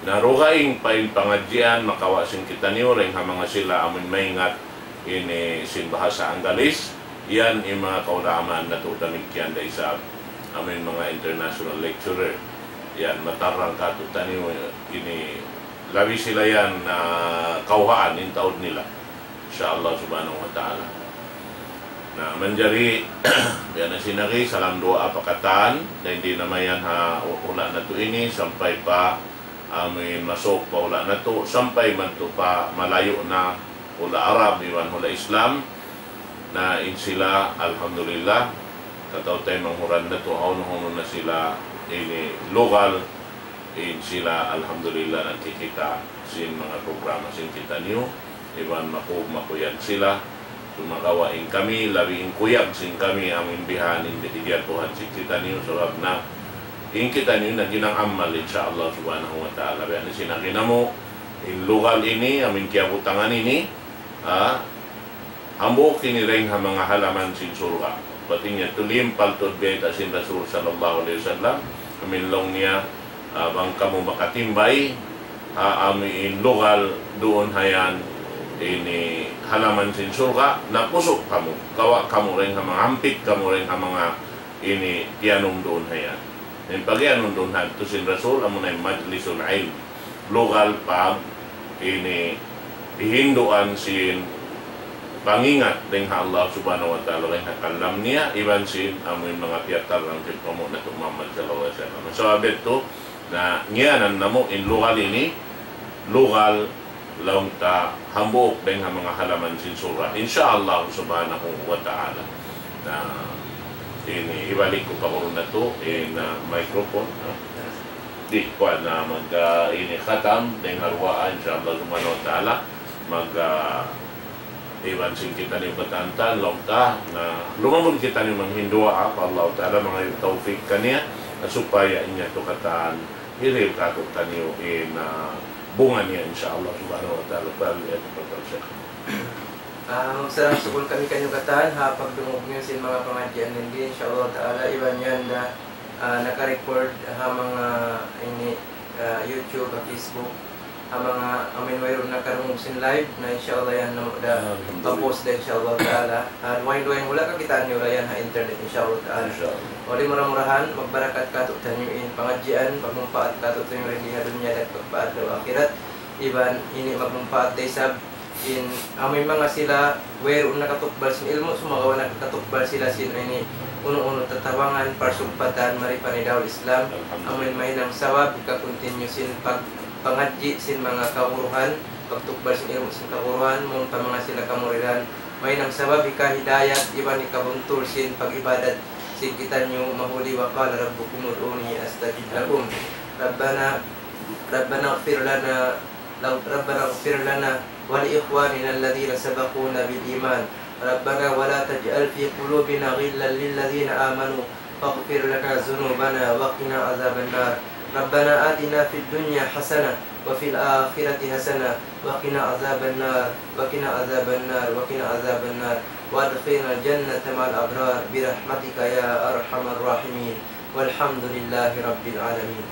Na dugaing pa in pangadjian, makawa' sin kitaniyu, dayn ha manga sila amuin maingat ini sin bahasa Anggalis, yan in manga kaulamaan natu' damikkiyan da isab, amuin manga international lecturer. Yan, matarrang katu'taniyu ini, labi sila yan, ah, kawhaan in taud nila. Insya Allah subhanahu wa ta'ala. Na, manjari, biya' na sin agi, salam duwaa pa katan, dayn di na mayan ha hula' natu' ini, sampay pa amuin masuuk pa hula' natu', sampay madtu pa malayu' na hula' Arab, iban hula' Islam. Na in sila, alhamdulillah, kataw-taymanghuran natu', hawnu-hawnu na sila ini lugal, in sila, alhamdulillah, nakikita' sin manga programa sin kitaniyu, iban maku-, makuyag sila. Sumagawa' in kami, labi in kuyag sin kami, amuin bihan in dijatuhan sin kitaniyu, sabab na in kitaniyu na ginang amal, insya Allah subhanahu wa ta'ala. Biya' na sin agi namu', in lugal ini, amuin kiyabutangan ini, ah, hambuuk ini dayn ha manga halaman sin surga'. Bat in yadtu limpal tuud bayta' sin Rasul sallallahu alayhi wasallam, amuin laung niya, ah, bang kamu makatimbay, ah, amuin lugal duun ha yan, ini halaman sin surga', na pusu' kamu, kawa' kamu dayn ha manga, hampit kamu dayn ha manga ini tiyanum duun ha yan. In pagiyanun duun ha yan, tuud sin Rasul, amuna in majlisul ilm, lugal pa ini hihinduan sin pangingat dayn ha Allah subhanahu wa ta'ala, dayn ha kalam niya, iban sin amuin manga piyatarrang sin panghu' natu' Muhammad sallallahu alayhi wasallam. Sabab yadtu, na ngiyanan namu' in lugal ini, lugal laung ta hambuuk dayn ha manga halaman sin surga'. Insya Allah subhanahu wa ta'ala. Na, ini, hibalik ku pa guru natu', in, ah, microphone, ah. Di', kuwan na mag, ah, ini khatam, dayn ha duwaa, insya Allah subhanahu wa ta'ala, mag, ah, iban sin kitaniyu katantan, laung ta, na, lumabun kitaniyu manghinduwaa pa Allah ta'ala, mangayu' tawfik kaniya, na supaya in yadtu katan, hirihil katu'taniyu in, ah, bunga niya, insya Allah subhanahu wa ta'ala. Fal yatafaddal Sheikh. Ah, magsarang-sukul kami kaniyu katan, ha pagdungug niyu sin manga pangadjian nindi, insya Allah ta'ala, iban yan da, ah, naka-record ha manga ini, ah, YouTube, ha Facebook, ha manga amuin wayruun nakarungug sin live, na insya Allah yan namu' da, alhamdulillah, pa-post da, insya Allah ta'ala. Ah, dugaing-dugaing hula' kakitaan niyu da yan ha internet, insya Allah ta'ala. Insya Allah. Wali mura-murahan, magbarakat katu'taniyu in pangadjian, magmumpaat katu'taniyu dayn di ha dunya dayng ha pagpaadlaw akhirat. Iban ini magmumpaat da isab in amuin manga sila wayruun nakatukbal sin ilmu', sumagawa' nakakatukbal sila sin ini unu-unu tatabangan, parsugpatan, mari pa ini dawla Islam. Alhamdulillah. Amuin mahinang sabab, hika-continue sin pag-, pangadji' sin manga kaguruhan, pagtukbal sin ilmu' sin kaguruhan, mawn pa manga sila kamuridan, mahinang sabab hikahidayat, iban hikabuntul sin pag-ibadat sin kitaniyu mahuli, وقال ربكم ادعوني أستجب لكم. ربنا، ربنا اغفر لنا، ربنا اغفر لنا ولإخواننا الذين سبقونا بالإيمان. ربنا ولا تجعل في قلوبنا غلا للذين آمنوا واغفر لنا ذنوبنا وقنا عذاب النار. ربنا آتنا في الدنيا حسنة وفي الآخرة حسنة وقنا عذاب النار، وقنا عذاب النار، وقنا عذاب النار، وأدخلنا الجنة مع الأبرار برحمتك يا أرحم الراحمين. والحمد لله رب العالمين.